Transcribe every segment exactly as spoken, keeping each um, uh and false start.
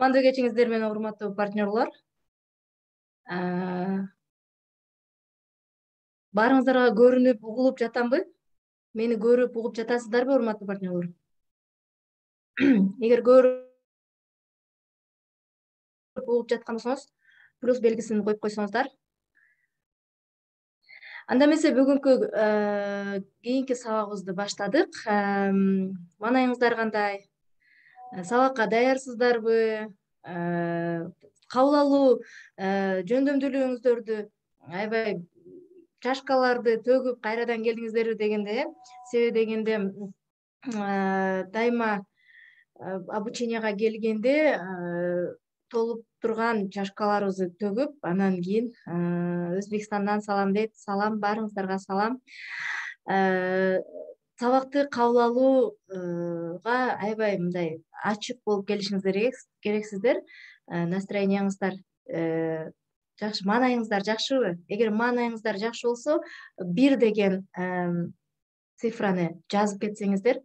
Мандуу кечиңиздер менен урматтуу партнерлор. Баарыңыздарга көрүнүп, угулуп жатамбы? Мени көрүп, угуп жатасыздарбы, урматтуу партнерлор? Эгер көрүп угуп жаткан болсоңуз, плюс белгисин коюп койсоңуздар. Анда эмесе бүгүнкү кийинки сабагыбызды баштадык. Маанайыңыздар кандай? Сабакка даярсыздарбы? Кабыл алуу жөндөмдүүлүгүңүздөрдү аябай чашкаларды төгүп кайрадан келдиңиздерби дегенде, э? Себеби дегенде дайыма обученияга келгенде толуп турган чашкаларыбызды төгүп, анан кийин Өзбекстандан салам дейт. Салам, баарыңыздарга салам. Сабакты кабыл алууга аябай мындай ачык болуп келишиңиздер керексиздер. Настроенияңыздар жакшы, маанайыңыздар жакшыбы? Эгер маанайыңыздар жакшы болсо, бир деген цифраны жазып кетсеңиздер.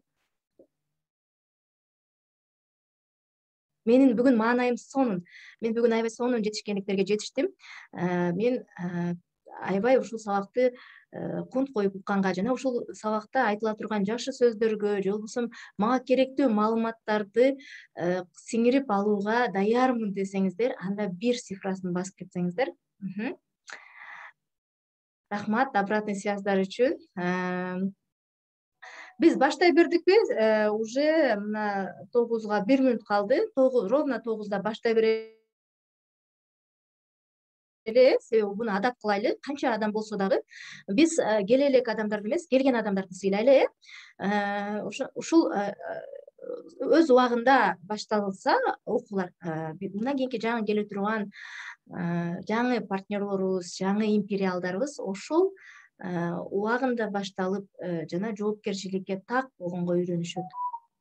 Менин бүгүн маанайым сонун. Мен бүгүн аябай сонун жетишкендиктерге жетиштим. Мен аябай ушул сабакты кунт коюп укканга жана ушул сабакта айтыла турган жакшы сөздөргө, же болбосо мага керектүү маалыматтарды сиңирип алууга даярмын десеңиздер, анда бир цифрасын басып кетсеңиздер. Рахмат обратный связьдар үчүн. Биз баштай бердикпи? Уже мына тогузга бир мүнөт калды. Ровно тогузда баштай берели. Себеби буну адап кылайлы. Канча адам болсо дагы биз келе элек адамдарды эмес, келген адамдарды сыйлайлы, э? Ушул өз убагында башталса окуулар, мындан кийинки жаңы келе турган жаңы партнерлорубуз, жаңы империалдарыбыз ошол убагында башталып жана жоопкерчиликке так болгонго үйрөнүшөт.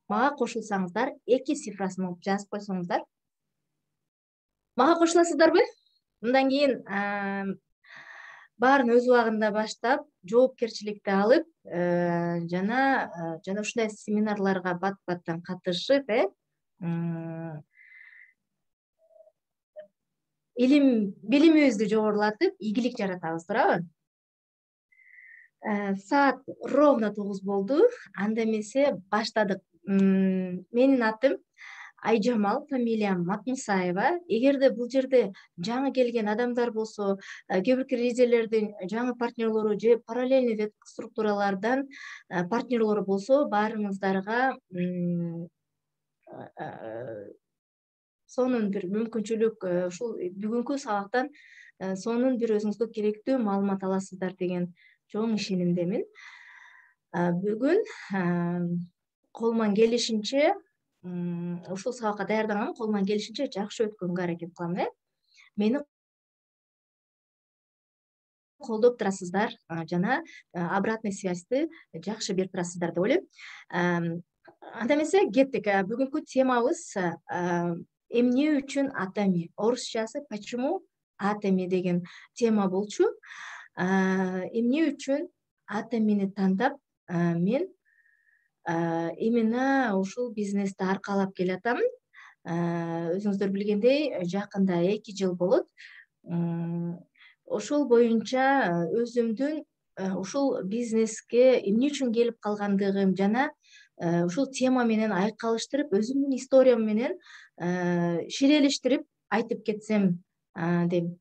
Мага кошулсаңыздар, эки цифрасын жазып койсоңуздар. Мага кошуласыздарбы? Мындан кийин баарын өз убагында баштап, жоопкерчиликти алып, жана жана ушундай семинарларга бат-баттан катышып, э? Илим, билимибизди жогорулатып, ийгилик жаратабыз, туурабы? Саат ровно тогуз болду. Анда эмесе баштадык. Менин атым Айжамал, фамилиям Матмусаева. Эгерде бул жерде жаңы келген адамдар болсо, кээ бирки резелердин жаңы партнерлору же параллельный веб структуралардан партнерлору болсо, баарыңыздарга сонун бир мүмкүнчүлүк, ушул бүгүнкү сабактан сонун бир өзүңүзгө керектүү маалымат аласыздар деген чоң ишенимдемин. Бүгүн колуман келишинче ушул сабакка даярданганмын, колуман келишинче жакшы өткөнгө аракет кылам, э? Мени колдоп турасыздар жана обратный связьты жакшы берип турасыздар деп ойлойм. Анда эмесе кеттик. Бүгүнкү темабыз эмне үчүн атами? Орусчасы почему атами деген тема болчу. Эмне үчүн атамини тандап мен именно ушул бизнести аркалап келатам. Өзүңүздөр билгендей, жакында эки жыл болот. Ошол боюнча өзүмдүн ушул бизнеске эмне үчүн келип калгандыгым жана ушул тема менен айкалыштырып, өзүмдүн историям менен ширелештирип айтып кетсем дейм.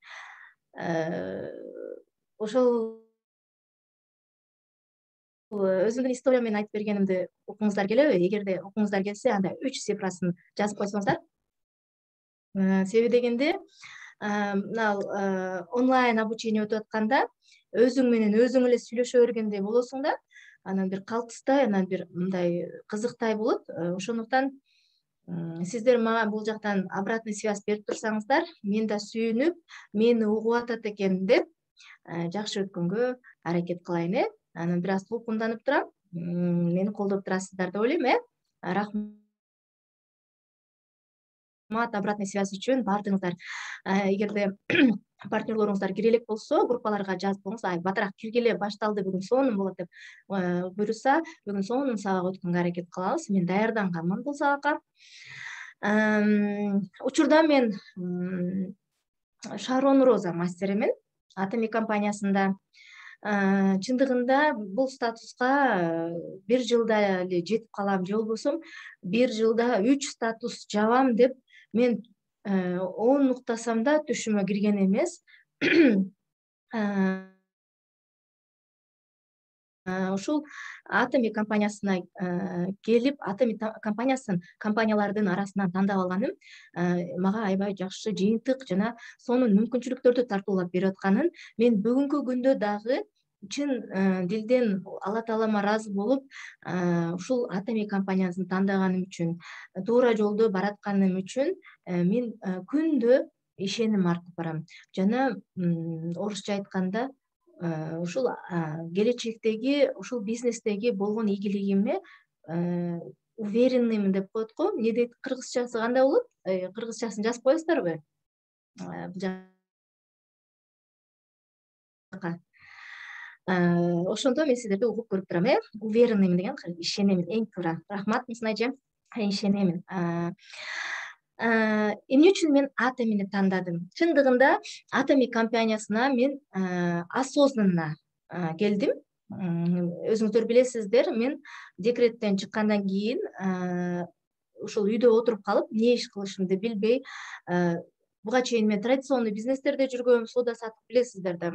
Ошол өзүмдүн историям менен айтып бергенимди укуңуздар келеби? Эгерде укуңуздар келсе, анда үч цифрасын жазып койсоңуздар. Себеби дегенде, мына онлайн обучение өтүп атканда өзүң менен өзүң эле сүйлөшө бергендей болосуң да, анан бир калтыстай, анан бир мындай кызыктай болот. Ошондуктан сиздер мага бул жактан обратный связь берип турсаңыздар, мен да сүйүнүп, мени угуп атат экен деп жакшы өткөнгө аракет кылайын, э? Анан бир аз толкунданып турам. Мени колдоп турасыздар деп ойлойм, э? Рахмат обратный связь үчүн баардыгыңыздар. Эгерде партнерлоруңуздар кире элек болсо, группаларга жазып коюңуз. Ай, батыраак киргиле, башталды, бүгүн сонун болот деп буйрса, бүгүн сонун сабак өткөнгө аракет кылабыз. Мен даярданганмын бул сабакка. Учурда мен Шарон Роза мастеримин Atomy компаниясында. Чындыгында бул статуска бир жылда эле жетип калам же болбосо бир жылда үч статус жабам деп мен он уктасам да түшүмө кирген эмес. Ушул Atomy компаниясына келип, Atomy компаниясын компаниялардын арасынан тандап алганым мага аябай жакшы жыйынтык жана сонун мүмкүнчүлүктөрдү тартуулап берип атканын мен бүгүнкү күндө дагы чын дилден Алла Таалама ыраазы болуп, ушул Atomy компаниясын тандаганым үчүн, туура жолдо баратканым үчүн мен күндө ишеним артып барам. Жана орусча айтканда ушул келечектеги ушул бизнестеги болгон ийгилигиме уверенныймын деп коет го. Эмне дейт кыргызчасы кандай болот? Кыргызчасын жазып коесуздарбы? Бул жака. Ошондо мен сиздерди угуп көрүп турам, э? Уверенныймын деген ишенемин, эң туура. Рахмат Мусун эже. Ишенемин. Эмне үчүн мен Atomy'ни тандадым? Чындыгында Atomy компаниясына мен осознанно келдим. Өзүңүздөр билесиздер, мен декреттен чыккандан кийин ушул үйдө отуруп калып, эмне иш кылышымды билбей, буга чейин мен традиционный бизнестерде жүргөм, соода сатып билесиздер да.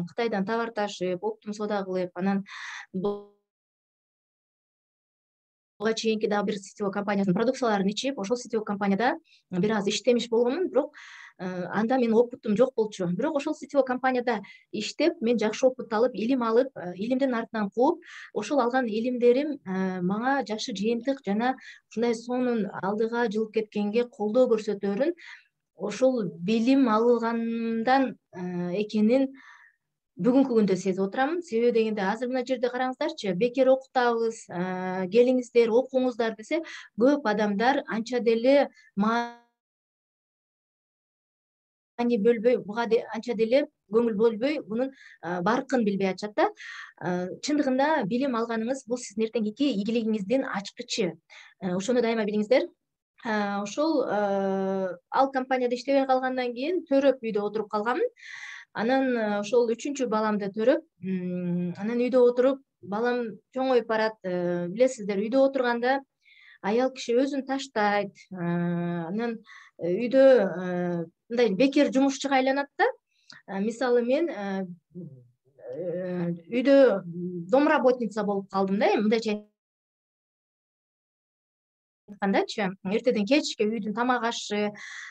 Кытайдан товар ташып, оптом соода кылып, анан буга чейинки дагы бир сетевой компаниясынын продукцияларын ичип, ошол сетевой компанияда бир аз иштемиш болгонмун, бирок анда менин опытым жок болчу. Бирок ошол сетевой компанияда иштеп, мен жакшы опыт алып, илим алып, илимдин артынан кууп, ошол алган илимдерим мага жакшы жыйынтык жана ушундай сонун алдыга жылып кеткенге колдоо көрсөтөөрүн, ошол билим алганымдан экенин бүгүнкү күндө сезип отурам. Себеби дегенде азыр мына жерде караңыздарчы, бекер окутабыз, келиңиздер, окуңуздар десе, көп адамдар анча деле маани бөлбөй, буга анча деле көңүл бөлбөй, мунун баркын билбей атышат да. Чындыгында билим алганыңыз бул сиздин эртеңки ийгилигиңиздин ачкычы. Ошону дайыма билиңиздер. Ошол ал компанияда иштебей калгандан кийин төрөп үйдө отуруп калганмын. Анан ошол үчүнчү баламды төрөп, анан үйдө отуруп, балам чоңоюп барат. Билесиздер, үйдө отурганда аял киши өзүн таштайт. Анан үйдө мындай бекер жумушчуга айланат да. Мисалы мен үйдө домработница болуп калдым да, мындайча айткандачы, эртеден кечке үйдүн тамак ашы,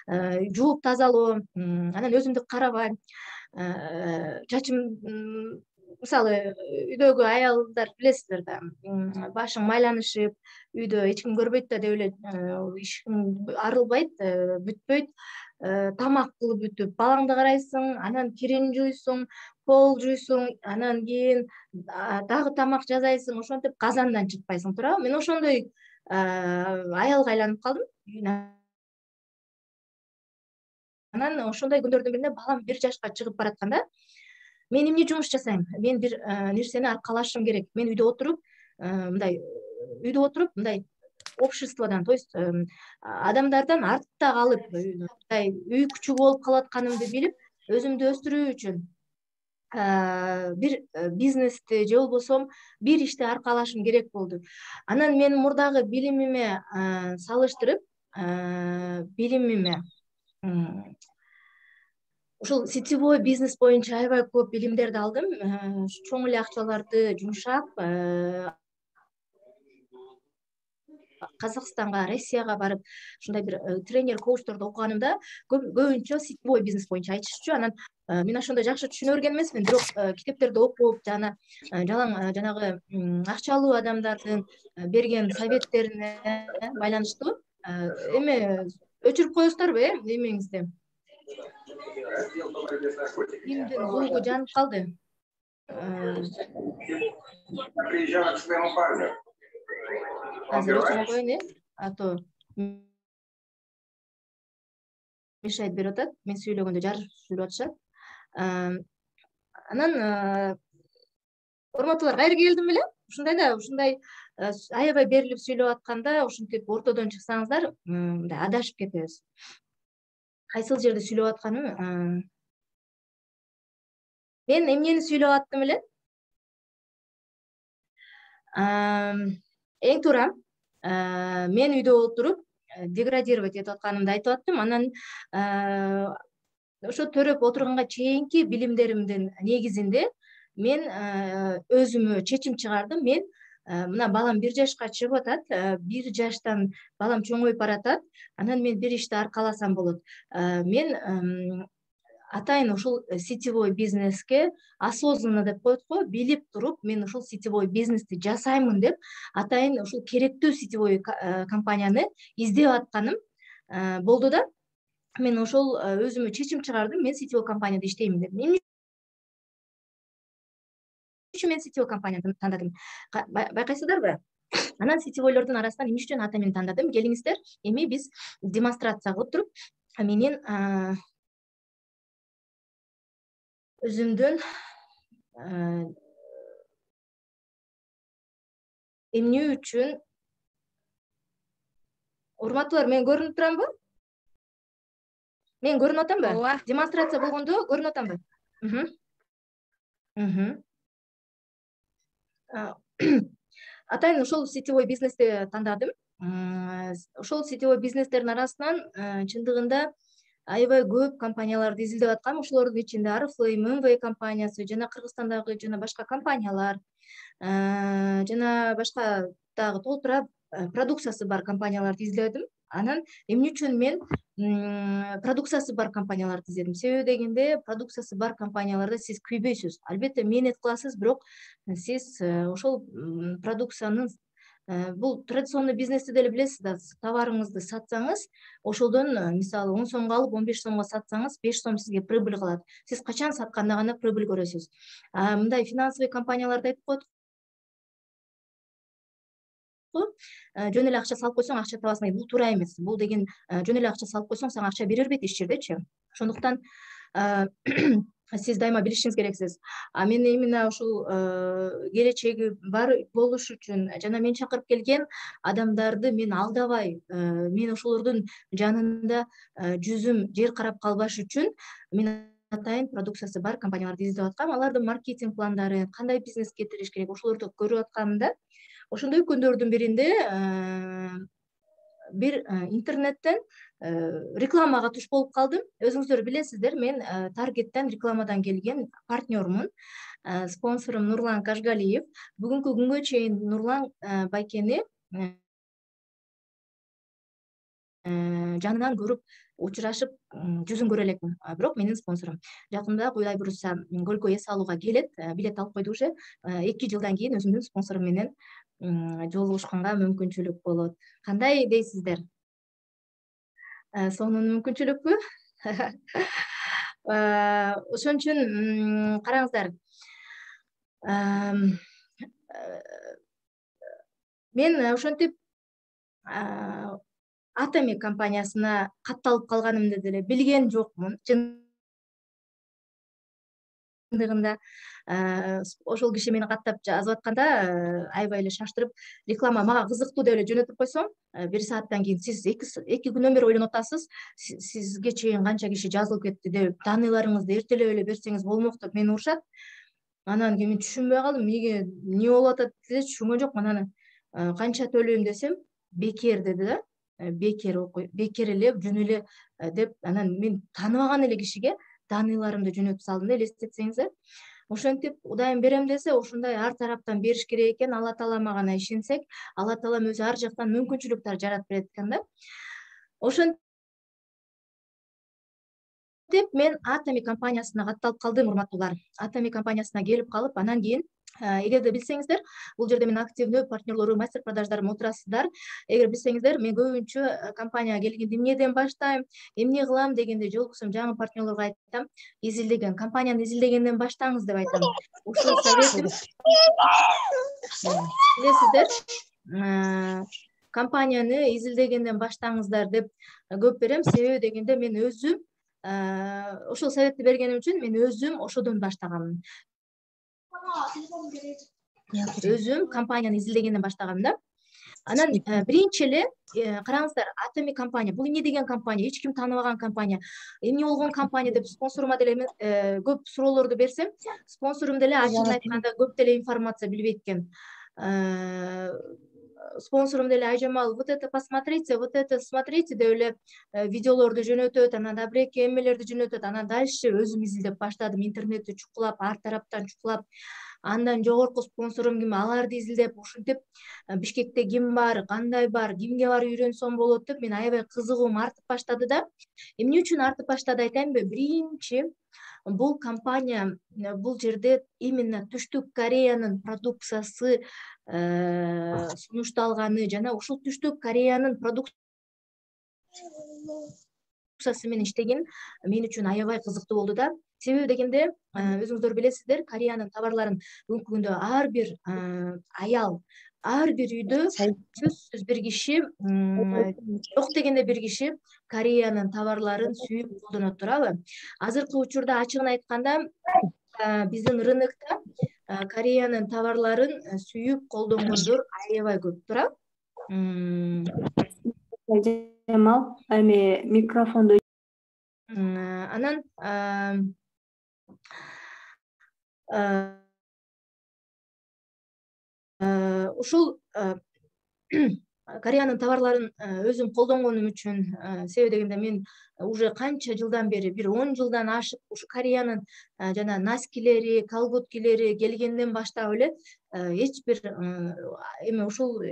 жууп тазалоо, анан өзүмдү карабай, чачым, мисалы үйдөгү аялдар билесиздер да, башың майланышып, үйдө эч ким көрбөйт да деп эле ишиң арылбайт, бүтпөйт. Тамак кылып бүтүп, балаңды карайсың, анан кирин жуйсуң, пол жуйсуң, анан кийин дагы тамак жасайсың, ошентип казандан чыкпайсың, туурабы? Мен ошондой аялга айланып калдым. Анан ошондой күндөрдүн биринде балам бир жашка чыгып баратканда, мен эмне жумуш жасайм? Мен бир нерсени аркалашым керек. Мен үйдө отуруп, мындай үйдө отуруп, мындай обществодан, то есть адамдардан артта калып, мындай үй күчү болуп калатканымды билип, өзүмдү өстүрүү үчүн бир бизнести же болбосо бир ишти аркалашым керек болду. Анан мен мурдагы билимиме салыштырып, билимиме ушул сетевой бизнес боюнча аябай көп билимдерди алдым. Чоң эле акчаларды жумшап, Казакстанга, Россияга барып, ушундай бир тренер, коучторду окуганымда көбүнчө сетевой бизнес боюнча айтышчу. Анан мен ошондо жакшы түшүнө берген эмесмин, бирок китептерди окуп, жана жалаң жанагы акчалуу адамдардын берген советтерине байланыштуу эме өчүрүп коесуздарбы, э, эмеңизди? Кимдин звугу жанып калды? Азыр өчүрүп коеюн, э, а то мешает берип атат. Мен сүйлөгөндө жарыш жүрүп атышат. Анан урматтуулар, кайра келдим беле? ушундай да ушундай аябай берилип сүйлөп атканда ушинтип ортодон чыксаңыздар мындай адашып кетебиз. Кайсыл жерде сүйлөп атканым? Мен эмнени сүйлөп аттым эле? Эң туура мен үйдө отуруп деградировать этип атканымды айтып аттым. Анан ошо төрөп отурганга чейинки билимдеримдин негизинде мен өзүмө чечим чыгардым. Мен мына балам бир жашка чыгып атат, бир жаштан балам чоңоюп баратат. Анан мен бир ишти аркаласам болот. Мен атайын ушул сетевой бизнеске осознанно деп коет го, билип туруп мен ушул сетевой бизнести жасаймын деп атайын ушул керектүү сетевой компанияны издеп атканым болду да. Мен ошол өзүмө чечим чыгардым, мен сетевой компанияда иштеймин деп. Эмне үчүн мен сетевой компанияны тандадым? Байкайсыздарбы? Анан сетевойлордун арасынан эмне үчүн ата мени тандадым? Келиңиздер, эми биз демонстрация кылып туруп, менин өзүмдүн эмне үчүн урматтуулар, мен көрүнүп турамбы? Мен көрүнүп атамбы? Ооба. Демонстрация болгондо көрүнүп атамбы? Атайын ошол сетевой бизнести тандадым. Ошол сетевой бизнестердин арасынан чындыгында аябай көп компанияларды изилдеп аткам. Ошолордун ичинде Арыфлейм, эм вэ компаниясы жана Кыргызстандагы жана башка компаниялар, жана башка дагы толтура продукциясы бар компанияларды изледим. Анан эмне үчүн мен продукциясы бар компанияларды изледим? Себеби дегенде продукциясы бар компанияларда сиз күйбөйсүз. Албетте мээнет кыласыз, бирок сиз ошол продукциянын бул традиционный бизнести деле билесиз да, товарыңызды сатсаңыз, ошолдон мисалы он сомго алып он беш сомго сатсаңыз, беш сом сизге прибыль калат. Сиз качан сатканда гана прибыль көрөсүз. Мындай финансовый компанияларда айтып коет го, жөн эле акча салып койсоң акча табасың. Бул туура эмес. Бул деген жөн эле акча салып койсоң сага акча бере бербейт иш жердечи. Ошондуктан сиз дайыма билишиңиз керексиз. А мен именно ушул келечеги бар болуш үчүн жана мен чакырып келген адамдарды мен алдабай, мен ошолордун жанында жүзүм жер карап калбаш үчүн мен атайын продукциясы бар компанияларды издеп аткам. Алардын маркетинг пландары, кандай бизнес кетириш керек, ошолорду көрүп атканымда ошондой күндөрдүн биринде бир интернеттен рекламага туш болуп калдым. Өзүңүздөр билесиздер, мен Таргеттен рекламадан келген партнермун. Спонсорум Нурлан Кашгалиев. Бүгүнкү күнгө чейин Нурлан байкени жанынан көрүп, учурашып, жүзүн көрө элекмин. Бирок менин спонсорум. Жакында Кудай буюрса көлгө эс алууга келет, билет алып койду уже. эки жылдан кийин өзүмдүн спонсорум менен жолугушканга мүмкүнчүлүк болот. Кандай дейсиздер? Сонун мүмкүнчүлүкпү? Ошон үчүн караңыздар. Мен ошентип Атами компаниясына катталып калганымды деле билген жокмун. Чындыгында ошол киши мени каттап жазып атканда аябай эле шаштырып, реклама мага кызыктуу деп эле жөнөтүп койсоң, бир сааттан кийин сиз эки күнөн бери ойлонуп атасыз, сизге чейин канча киши жазылып кетти деп, данныйларыңызды эртелеп эле берсеңиз болмок деп мени урушат. Анан кийин мен түшүнбөй калдым, эмнеге, эмне болуп атат деп түшүнгөн жокмун. Анан канча төлөйм десем, бекер деди да. Бекер окуй, бекер эле, жөн эле деп, анан мен тааныбаган эле кишиге данныйларымды жөнөтүп салдым да, элестетсеңиздер. Ошентип Кудайым берем десе, ошондой ар тараптан бериш керек экен. Алла таалама гана ишенсек, Алла таалам өзү ар жактан мүмкүнчүлүктөр жаратып берет экен да. Ошентип мен Атами компаниясына катталып калдым, урматтуулар. Атами компаниясына келип калып, анан кийин эгерде билсеңиздер, бул жерде мен активдүү партнерлору, мастер продаждарым отурасыздар. Эгер билсеңиздер, мен көбүнчө компанияга келгенде эмнеден баштайм, эмне кылам дегенде жолуксам, жаңы партнерлорго айтам, изилдеген, компанияны изилдегенден баштаңыз деп айтам. Ушул советим, билесиздер, компанияны изилдегенден баштаңыздар деп көп берем. Себеби дегенде мен өзүм ошол советти бергеним үчүн мен өзүм ошодон баштаганмын. өзүм компанияны изилдегенден баштагам да. Анан биринчи эле караңыздар, Atomy компания бул эмне деген компания, эч ким тааныбаган компания, эмне болгон компания деп спонсорума деле көп суроолорду берсем, спонсорум деле ачыгын айтканда көп деле информация билбейт экен. Спонсорум деле Айжамал, вот это посмотрите, вот это смотрите деп эле видеолорду жөнөтөт, анан да бир эки эмелерди жөнөтөт. Анан дальше өзүм изилдеп баштадым, интернетти чукулап, ар тараптан чукулап. Андан жогорку спонсорум ким, аларды изилдеп, ушинтип Бишкекте ким бар, кандай бар, кимге барып үйрөнсөм болот деп мен аябай кызыгуум артып баштады да. Эмне үчүн артып баштады айтайынбы? Биринчи, бул компания бул жерде именно Түштүк Кореянын продукциясы сунушталганы жана ушул Түштүк Кореянын продукциясы менен иштеген мен үчүн аябай кызыктуу болду да. Себеби дегенде, өзүңүздөр билесиздер, Кореянын товарларын бүгүнкү күндө ар бир аял, ар бир үйдө сөзсүз бир киши, жок дегенде бир киши Кореянын товарларын сүйүп колдонот, туурабы? Азыркы учурда ачыгын айтканда биздин рынокто Кореянын товарларын сүйүп колдонгондор аябай көп, туурабы? Жамал, эми микрофонду. Анан ушул Кореянын товарларын өзүм колдонгонум үчүн, себеби дегенде мен уже канча жылдан бери, бир он жылдан ашык ушу Кореянын жана носкилери, колготкилери келгенден баштап эле эч бир эми ушул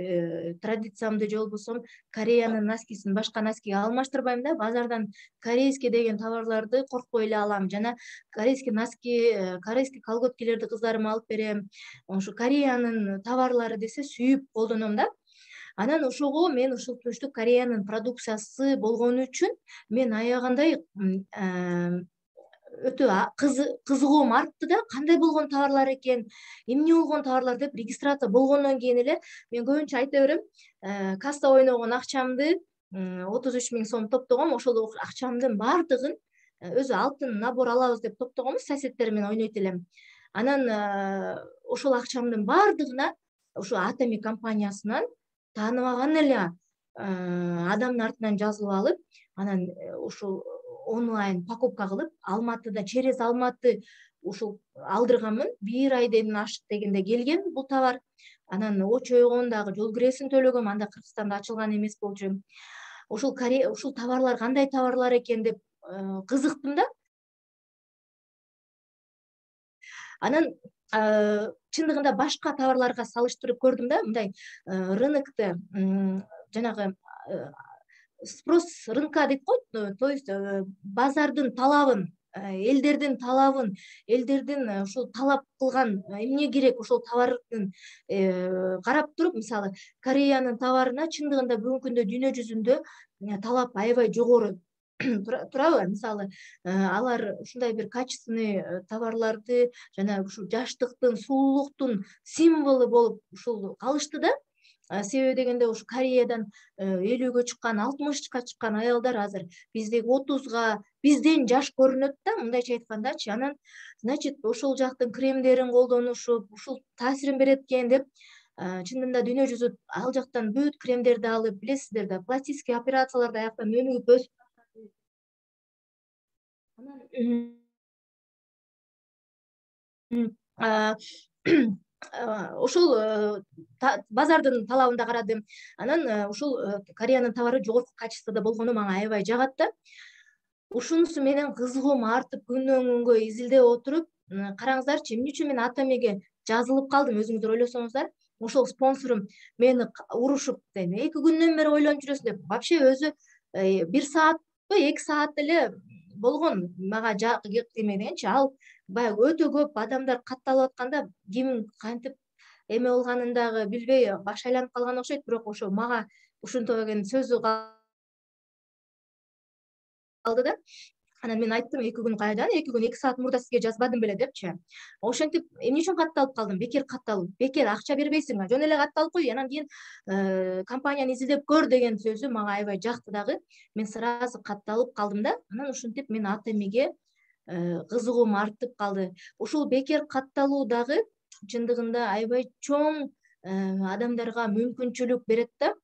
традициямды же болбосо Кореянын носкисин башка носкиге алмаштырбайм да. Базардан корейский деген товарларды коркпой эле алам, жана корейский носки, корейский колготкилерди кыздарыма алып берем. Ошо Кореянын товарлары десе сүйүп колдоном да. Анан ошого мен ушул Түштүк Кореянын продукциясы болгону үчүн мен аягандай өтө кызыгуум артты да. Кандай болгон товарлар экен, эмне болгон товарлар деп регистрация болгондон кийин эле мен көбүнчө айта берем, касса ойногон акчамды отуз үч миң сом топтогом, ошол акчамдын баардыгын өзү алтын набор алабыз деп топтогонбуз, соседтерим менен ойнойт элем. Анан ошол акчамдын баардыгына ушу Atomy компаниясынан тааныбаган эле адамдын артынан жазылып алып, анан ушул онлайн покупка кылып, Алматыда, через Алматы ушул алдырганмын. Бир айдан ашык дегенде келген бул товар. Анан очойгон дагы жол киресин төлөгөм, анда Кыргызстанда ачылган эмес болчу. Ушул Корея, ушул товарлар кандай товарлар экен деп кызыктым да. Анан чындыгында башка товарларга салыштырып көрдүм да, мындай рынокто жанагы спрос рынка дейт го, то есть базардын талабын, элдердин талабын, элдердин ушул талап кылган эмне керек ошол товардын карап туруп, мисалы Кореянын товарына чындыгында бүгүнкү күндө дүйнө жүзүндө талап аябай жогору турабы? Мисалы алар ушундай бир качественный товарларды жана ушул жаштыктын, сулуулуктун символу болуп ушул калышты да. Себеби дегенде ушу Кореядан элүүгө чыккан, алтымышка чыккан аялдар азыр биздеги отузга бизден жаш көрүнөт да, мындайча айткандачы. Анан, значит, ошол жактын кремдерин колдонушуп, ушул таасирин берет экен деп, чынында дүйнө жүзү ал жактан бүт кремдерди алып, билесиздер да, пластический операцияларды аяктан өнүгүп өсүп анан ушул базардын талабын да карадым. Анан ушул Кореянын товары жогорку качествода болгону мага аябай жагат да. Ушунусу менен кызыгуум артып күндөн күнгө изилдеп отуруп, караңыздарчы, эмне үчүн мен Atomy'ге жазылып калдым, өзүңүздөр ойлосоңуздар. Ошол спонсорум мени урушуп, эки күндөн бери ойлонуп жүрөсүң деп, вообще өзү бир саатпы, эки саат эле болгон мага эме дегенчи, ал баягы өтө көп адамдар катталып атканда ким кантип эме болгонун дагы билбей баш айланып калган окшойт, бирок ошо мага ушинтип деген сөзү калды да. Анан мен айттым, эки күн кайдан, эки күн эки саат мурда сизге жазбадым беле депчи. Ошентип эмне үчүн катталып калдым? Бекер катталып, бекер акча бербейсиң, жөн эле катталып кой, анан кийин компанияны изилдеп көр деген сөзү мага аябай жакты дагы. Мен сразу катталып калдым да. Анан ушинтип мен Atomy'ге кызыгуум артып калды. Ушул бекер катталуу дагы чындыгында аябай чоң адамдарга мүмкүнчүлүк берет да.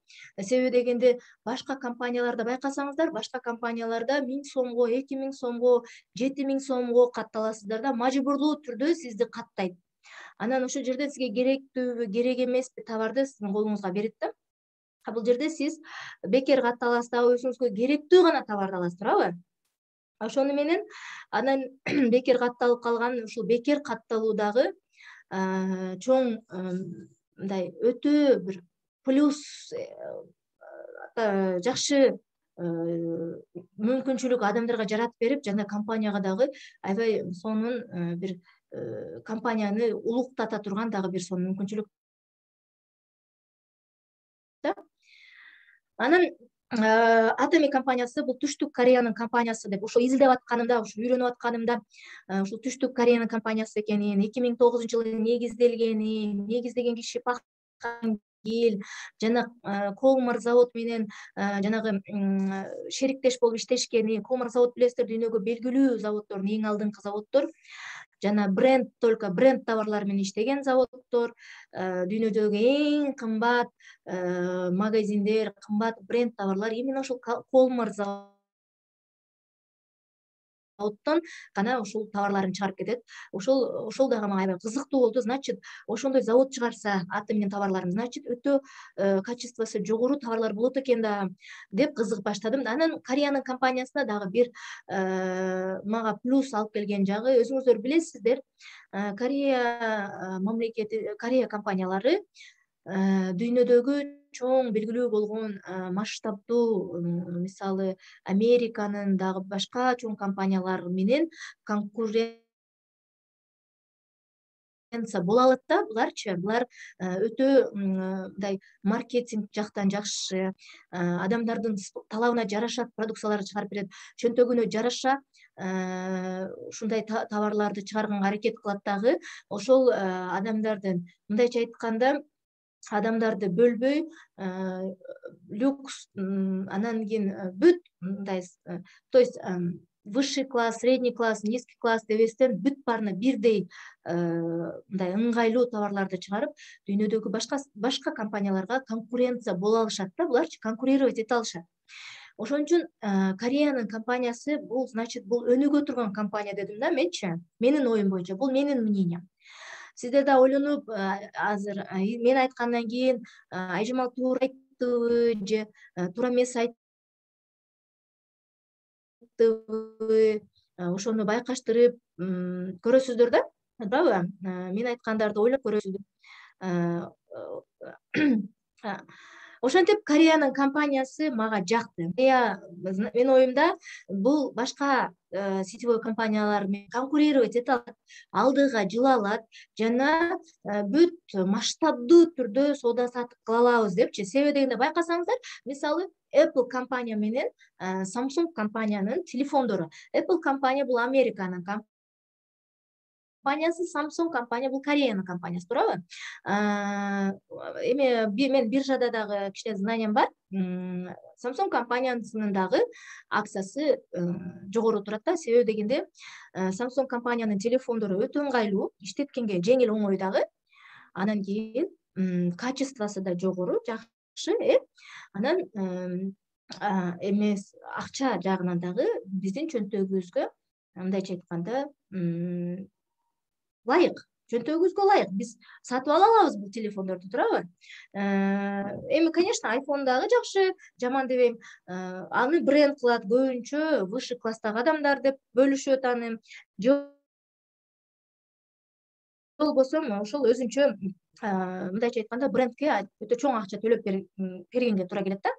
Себеби дегенде башка компанияларда байкасаңыздар, башка компанияларда миң сомго, эки миң сомго, жети миң сомго катталасыздар да, мажбурлуу түрдө сизди каттайт. Анан ошол жерде сизге керектүүбү, керек эмеспи товарды сиздин колуңузга берет да. А бул жерде сиз бекер катталасыз дагы, өзүңүзгө керектүү гана товарды аласыз, туурабы? Ошону менен анан бекер катталып калган ушул бекер катталуудагы чоң мындай өтө бир плюс жакшы мүмкүнчүлүк адамдарга жаратып берип, жана компанияга дагы аябай сонун бир компанияны улуктата турган дагы бир сонун мүмкүнчүлүк да. Анан Atomy компаниясы бул Түштүк Кореянын компаниясы деп ошо изилдеп атканымда, ошо үйрөнүп атканымда ушул Түштүк Кореянын компаниясы экенин, эки миң тогузунчу жылы негизделгенин, негиздеген киши Пак Хан Гил жана Колмар завод менен жанагы шериктеш болуп иштешкени. Колмар завод билесиздер, дүйнөгө белгилүү заводдордун эң алдыңкы заводдор. Жана бренд, только бренд товарлары менен иштеген заводдор, дүйнөдөгү эң кымбат магазиндер, кымбат бренд товарлар именно ошол Колмар заводдон гана ушул товарларын чыгарып кетет. Ошол ошол дагы мага аябай кызыктуу болду. Значит, ошондой завод чыгарса Atomy товарларын, значит, өтө качествосу жогору товарлар болот экен да деп кызыгып баштадым. Анан Кореянын компаниясына дагы бир мага плюс алып келген жагы, өзүңүздөр билесиздер, Корея мамлекети, Корея компаниялары дүйнөдөгү чоң белгилүү болгон масштабдуу, мисалы Американын дагы башка чоң компаниялары менен конкуренция боло алат да. Буларчы, булар өтө мындай маркетинг жактан жакшы, адамдардын талабына жараша продукцияларды чыгарып берет, чөнтөгүнө жараша ушундай товарларды чыгарганга аракет кылат дагы. Ошол адамдардын, мындайча айтканда, адамдарды бөлбөй, люкс, анан кийин бүт мындай, то есть высший класс, средний класс, низкий класс дебестен бүт баарына бирдей мындай ыңгайлуу товарларды чыгарып, дүйнөдөгү башка башка компанияларга конкуренция боло алышат да, буларчы конкурировать эте алышат. Ошон үчүн Кореянын компаниясы бул, значит, бул өнүгө турган компания дедим да менчи. Менин оюм боюнча, бул менин мнением. Сиздер да ойлонуп, азыр мен айткандан кийин Айжамал туура айттыбы же туура эмес айттыбы, ошону байкаштырып көрөсүздөр да, туурабы? Мен айткандарды ойлоп көрөсүздөр. Ошентип Кореянын компаниясы мага жакты. Менин оюмда бул башка сетевой компаниялар менен конкурировать эте алат, алдыга жыла алат жана бүт масштабдуу түрдө соода саттык кыла алабыз депчи. Себеби дегенде байкасаңыздар, мисалы Apple компания менен Samsung компаниянын телефондору. Apple компания бул Американын компаниясы, Samsung компания бул Кореянын компаниясы, туурабы? Эми мен биржада дагы кичине знаниям бар. Samsung компаниясынын дагы акциясы жогору турат да. Себеби дегенде Samsung компаниянын телефондору өтө ыңгайлуу, иштеткенге жеңил, оңой дагы. Анан кийин качествосу да жогору, жакшы, э. Анан эмес акча жагынан дагы биздин чөнтөгүбүзгө, мындайча айтканда, лайык, чөнтөгүбүзгө лайык. Биз сатып ала алабыз бул телефондорду, туурабы? Эми, конечно, iPhone дагы жакшы, жаман дебейм. Аны бренд кылат көбүнчө высший класстагы адамдар деп бөлүшөт аны. Болбосо ошол өзүнчө, мындайча айтканда, брендке өтө чоң акча төлөп бергенге туура келет да.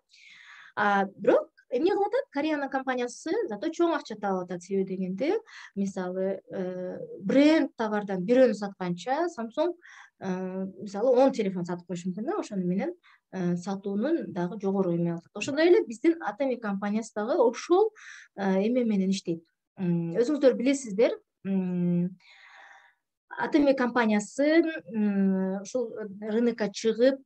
Бирок эмне кылып атат? Кореянын компаниясы зато чоң акча таап атат. Себеби дегенде, мисалы, бренд товардан бирөөнү сатканча, Samsung мисалы он телефон сатып коюшу мүмкүн да. Ошону менен сатуунун дагы жогору эме алат. Ошондой эле биздин Atomy компаниясы дагы ошол эме менен иштейт. Өзүңүздөр билесиздер, Atomy компаниясы ушул рынокко чыгып,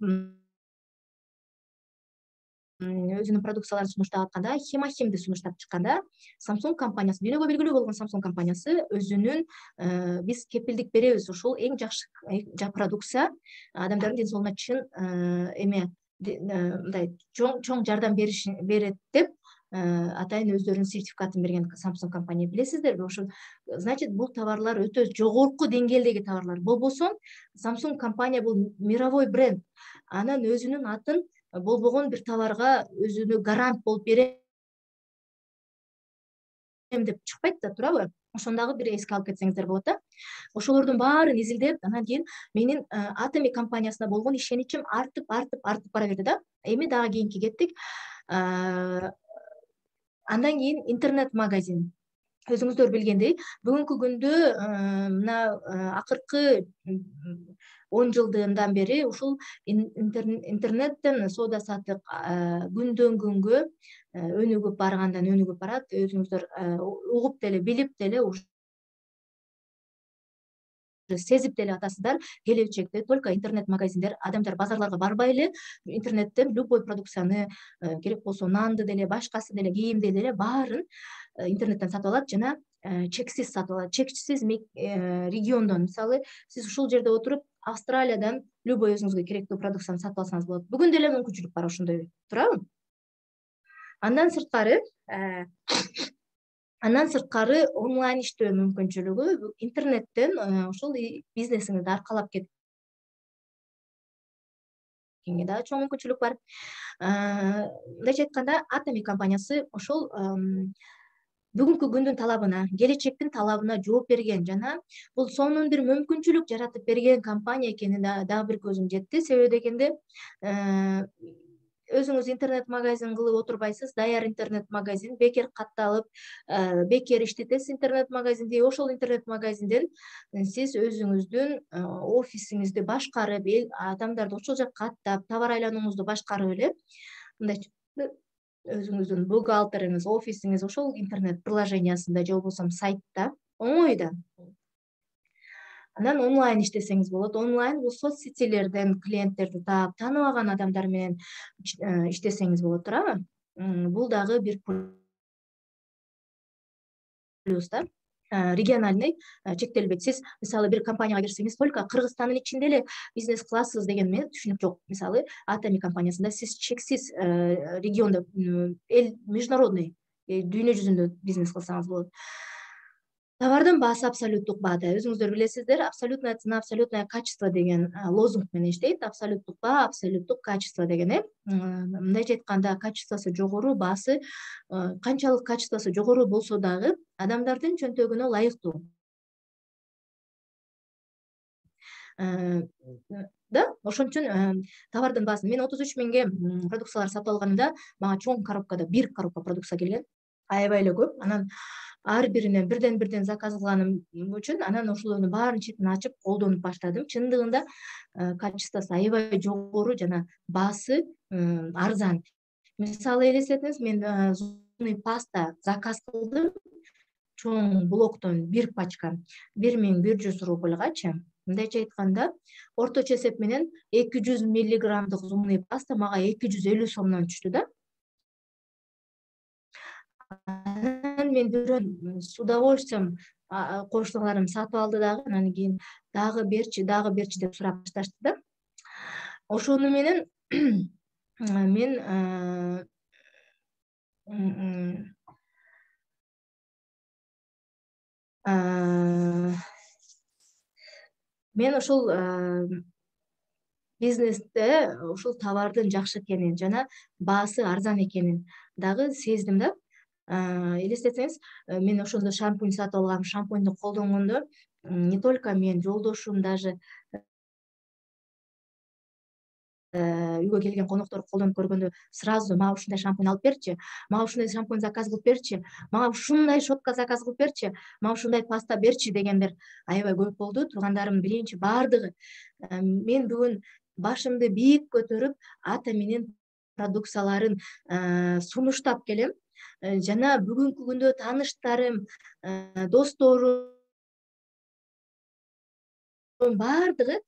өзүнүн продукцияларын сунуштап атканда Химахимди сунуштап чыкканда Samsung компаниясы, дүйнөгө белгилүү болгон Samsung компаниясы өзүнүн биз кепилдик беребиз, ушул эң жакшы продукция, адамдардын ден соолугуна чын эме мындай чоң чоң жардам берет деп атайын өздөрүнүн сертификатын берген Samsung компания, билесиздерби? Ошо значит бул товарлар өтө жогорку деңгээлдеги товарлар. Болбосо Samsung компания бул мировой бренд. Анан өзүнүн атын болбогон бир товарга өзүнө гарант болуп берем деп чыкпайт да, туурабы? Ошону дагы бир эске алып кетсеңиздер болот да. Ошолордун баарын изилдеп, анан кийин менин Atomy компаниясына болгон ишеничим артып, артып, артып бара берди да. Эми дагы кийинки кеттик. Андан кийин интернет-магазин. Өзүңүздөр билгендей, бүгүнкү күндө мына акыркы он жылдыдан бери ушул интернеттен соода саттык күндөн күнгө өнүгүп баргандан өнүгүп барат. Өзүңүздөр угуп деле, билип деле, сезип деле атасыздар. Келечекте только интернет-магазиндер, адамдар базарларга барбай эле интернеттен любой продукцияны, керек болсо нанды деле, башкасы деле, кийимди деле баарын интернеттен сатып алат жана чексиз сатып алат. Чексиз региондон, мисалы, сиз ушул жерде отуруп Австралиядан любой өзүңүзгө керектүү продукцияны сатып алсаңыз болот. Бүгүн деле мүмкүнчүлүк бар ошондой, туурабы? Андан сырткары Андан сырткары онлайн иштөө мүмкүнчүлүгү, интернеттен ушул бизнесиңизди аркалап кеткенге дагы чоң мүмкүнчүлүк бар. Мындайча айтканда, Atomy компаниясы ошол бүгүнкү күндүн талабына, келечектин талабына жооп берген жана бул сонун бир мүмкүнчүлүк жаратып берген компания экенин дагы бир көзүм жетти. Себеби дегенде өзүңүз интернет-магазин кылып отурбайсыз, даяр интернет-магазин, бекер катталып, бекер иштетесиз интернет-магазинди. Ошол интернет-магазинден сиз өзүңүздүн офисиңизди башкарып, адамдарды ошол жакка каттап, товар айланууңузду башкарып эле, мындай өзүңүздүн бухгалтериңиз, офисиңиз ошол интернет приложениясында же болбосо сайтта оңой да. Анан онлайн иштесеңиз болот. Онлайн бул соц сетилерден клиенттерди таап, тааныбаган адамдар менен иштесеңиз болот, туурабы? Бул дагы бир плюс да. Региональный чектелбейт. Сиз мисалы бир компанияга кирсеңиз, только Кыргызстандын ичинде эле бизнес кыласыз деген мен түшүнүк жок. Мисалы, Atomy компаниясында сиз чексиз региондо, эл международный, дүйнө жүзүндө бизнес кылсаңыз болот. Товардын баасы абсолюттук баада. Өзүңүздөр билесиздер, абсолютная цена, абсолютное качество деген лозунг менен иштейт. Абсолюттук баа, абсолюттук качество деген э. Мындайча айтканда, качествосу жогору, баасы канчалык качествосу жогору болсо дагы адамдардын чөнтөгүнө ылайыктуу. Да, ошон үчүн товардын баасын мен отуз үч миңге продукциялар сатып алганымда, мага чоң коробкада бир коробка продукция келген. Аябай эле көп. Анан ар биринен бирден бирден заказ кылганым үчүн анан ошолордун баарын четин ачып колдонуп баштадым. Чындыгында качествосу аябай жогору жана баасы арзан. Мисалы элестетиңиз, мен зубный паста заказ кылдым. Чоң блоктон бир пачка бир миң бир жүз рубльгачы. Мындайча айтканда, орточо эсеп менен эки жүз миллиграммдык зубный паста мага эки жүз элүү сомдон түштү да. Анан мен бирөө с удовольствием кошуналарым сатып алды дагы, анан кийин дагы берчи, дагы берчи деп сурап башташты да. Ошону менен мен мен ошол бизнесте ушул товардын жакшы экенин жана баасы арзан экенин дагы сездим да. Элестетсеңиз, мен ошондо шампунь сатып алгам. Шампуньду колдонгондо не только мен, жолдошум, даже үйгө келген коноктор колдонуп көргөндө сразу мага ушундай шампунь алып берчи, мага ушундай шампунь заказ кылып берчи, мага ушундай щетка заказ кылып берчи, мага ушундай паста берчи дегендер аябай көп болду. Туугандарым билейинчи баардыгы. Мен бүгүн башымды бийик көтөрүп Atomy'нин продукцияларын сунуштап келем. Жана бүгүнкү күндө тааныштарым, досторум баардыгы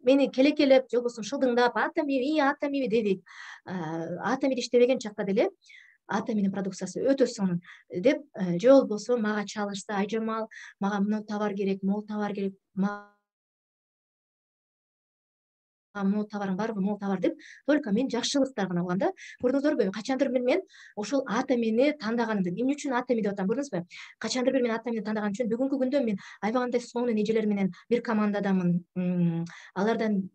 мени келекелеп же болбосо шылдыңдап атами и атами дедик. Атами иштебеген чакта деле атаминин продукциясы өтө сонун деп же болбосо мага чалышса, Айжамал, мага мына товар керек, могу товар керек, могу товарың барбы, могу товар деп только мен жакшылыктар гана кылгам да. Көрдүңүздөрбү, качандыр бир мен ошол атамини тандаганымды, эмне үчүн атами деп атам көрдүңүзбү? Качандыр бир мен атамини тандаганым үчүн бүгүнкү күндө мен аябагандай сонун эжелер менен бир командадамын. Алардан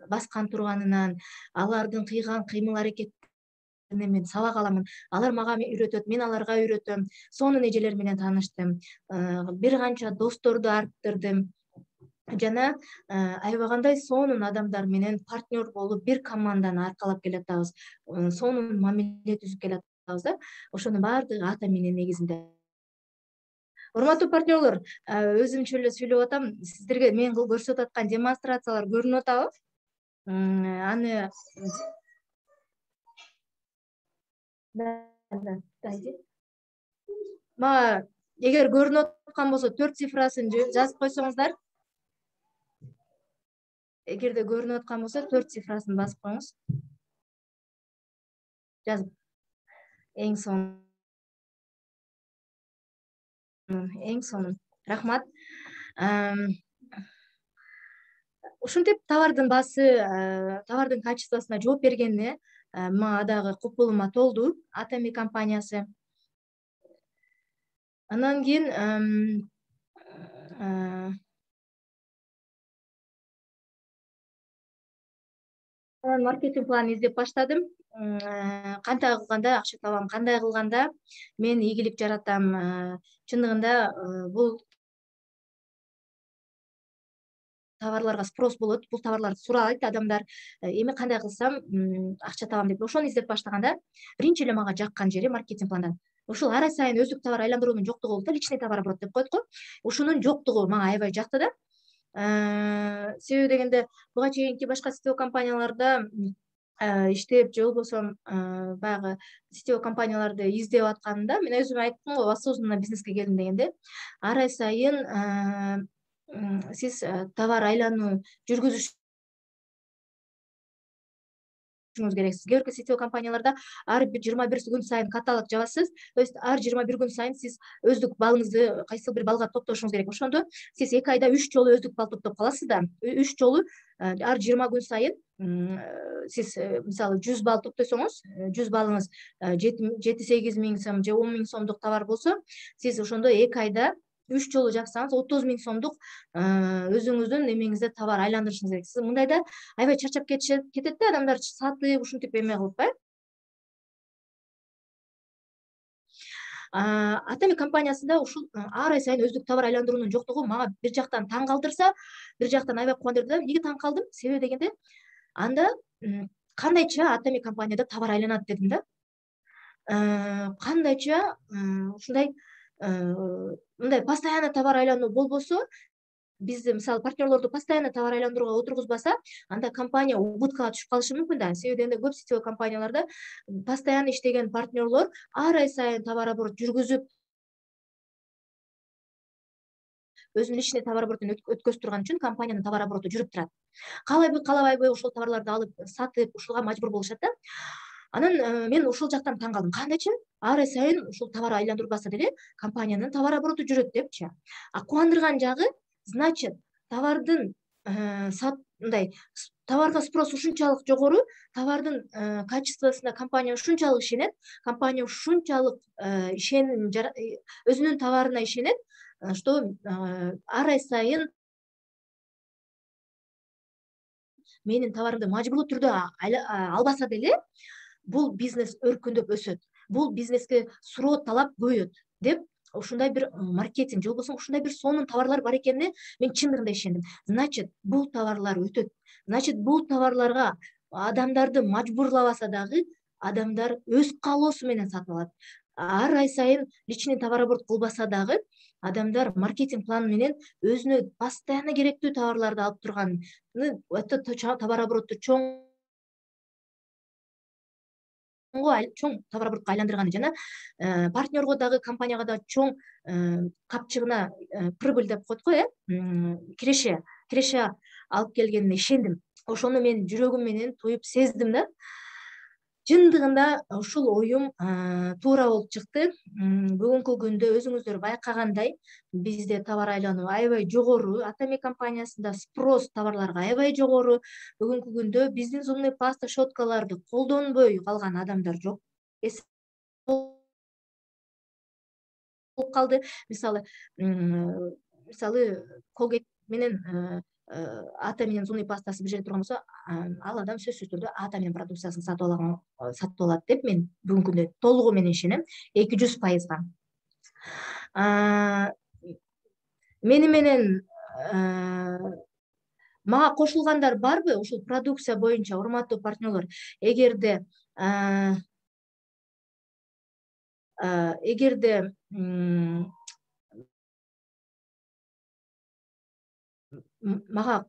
баскан турганынан, алардын кыйган кыймыл аракеттеринен мен сабак аламын. Алар мага үйрөтөт, мен аларга үйрөтөм. Сонун эжелер менен тааныштым. Бир канча досторду арттырдым. Жана аябагандай сонун адамдар менен партнер болуп бир команданы аркалап келатабыз. Сонун мамиле түзүп келатабыз да. Ошонун баардыгы атаминин негизинде. Урматтуу партнерлор, өзүмчө эле сүйлөп атам. Сиздерге мен көрсөтүп аткан демонстрациялар көрүнүп атабы? Аны мага эгер көрүнүп аткан болсо төрт цифрасын жазып койсоңуздар. Эгерде көрүнүп аткан болсо төрт цифрасын басып коюңуз. Жазып. Эң сонун. Эң сонун. Рахмат. Ушинтип товардын баасы, товардын качествосуна жооп бергенине мага дагы купулума толду Атами компаниясы. Андан кийин маркетинг планын издеп баштадым. Кандай кылганда акча табам, кандай кылганда мен ийгилик жаратам. Чындыгында бул товарларга спрос болот, бул товарларды сурайт адамдар. Эми кандай кылсам акча табам деп ошону издеп баштаганда биринчи эле мага жаккан жери маркетинг пландан. Ушул ара сайын өздүк товар айландыруунун жоктугу болуп да, личный товарооборот деп коет го. Ушунун жоктугу мага аябай жакты да. Себеби дегенде буга чейинки башка сетевой компанияларда иштеп же болбосо баягы сетевой компанияларды издеп атканымда мен өзүм айттым го, осознанно бизнеске келдим дегенде. Ара сайын сиз товар айлануу жүргүзүшүңүз керек. Кээ сетевой компанияларда ар бир жыйырма бир күн сайын каталог жабасыз. То есть ар жыйырма бир күн сайын сиз өздүк балыңызды кайсыл бир балга топтошуңуз керек. Ошондо сиз эки айда үч жолу өздүк бал топтоп каласыз да. үч жолу ар жыйырма күн сайын сиз мисалы жүз бал топтосоңуз, жүз балыңыз жети сегиз миң сом же он миң сомдук товар болсо, сиз ошондо эки айда үч жолу жапсаңыз отуз миң сомдук өзүңүздүн эмеңизде товар айландырышыңыз керек. Сиз мындайда аябай чарчап кетет да, адамдар сатып ушинтип эме кылып э. Атами компаниясында ушул ар ай сайын өздүк товар айландыруунун жоктугу мага бир жактан таң калтырса, бир жактан аябай кубандырды да. Эмнеге таң калдым? Себеби дегенде анда кандайча Атами компанияда товар айланат дедим да. Кандайча ушундай мындай постоянно товар айлануу болбосо, бизди мисалы партнерлорду постоянно товар айландырууга отургузбаса, анда компания убыткага түшүп калышы мүмкүн да. Себеби дегенде көп сетевой компанияларда постоянно иштеген партнерлор ар ай сайын товар оборот жүргүзүп, өзүнүн личный товар оборотун өткөзүп турган үчүн компаниянын товар обороту жүрүп турат. Каалайбы, каалабайбы ошол товарларды алып сатып, ушуга мажбур болушат да. Анан мен ушул жактан таң калдым. Кандайча ар ай сайын ушул товар айландырбаса деле компаниянын товар обороту жүрөт депчи. А кубандырган жагы, значит, товардын мындай товарга спрос ушунчалык жогору, товардын качествосуна компания ушунчалык ишенет, компания ушунчалык ишеним өзүнүн товарына ишенет, что ар ай сайын менин товарымды мажбурлуу түрдө албаса деле бул бизнес өркүндөп өсөт. Бул бизнеске суроо талап көбөйөт деп ушундай бир маркетинг же болбосо ушундай бир сонун товарлар бар экенине мен чындыгында ишендим. Значит, бул товарлар өтөт. Значит, бул товарларга адамдарды мажбурлабаса дагы адамдар өз каалоосу менен сатып алат. Ар ай сайын личный товар оборот кылбаса дагы адамдар маркетинг планы менен өзүнө постоянно керектүү товарларды алып турган, товар обороту чоң чоң товар оборотко айландырганы жана партнерго дагы компанияга дагы чоң капчыгына прибыль деп коет го, э киреше киреше алып келгенине ишендим. Ошону мен жүрөгүм менен туюп сездим да. Чындыгында ушул оюм туура болуп чыкты. Бүгүнкү күндө өзүңүздөр байкагандай, бизде товар айлануу аябай жогору, Атами компаниясында спрос товарларга аябай жогору. Бүгүнкү күндө биздин зубный паста, щеткаларды колдонбой калган адамдар жок. Болуп калды. Мисалы, мисалы Colgate менен Ата менен зубный пастасы бир жерде турган болсо, ал адам сөзсүз түрдө Ата менен продукциясын сатып алаган, сатып алат деп мен бүгүнкү күндө толугу менен ишенем, эки жүз пайызга. Мени менен мага кошулгандар барбы ушул продукция боюнча, урматтуу партнерлор? Эгерде эгерде мага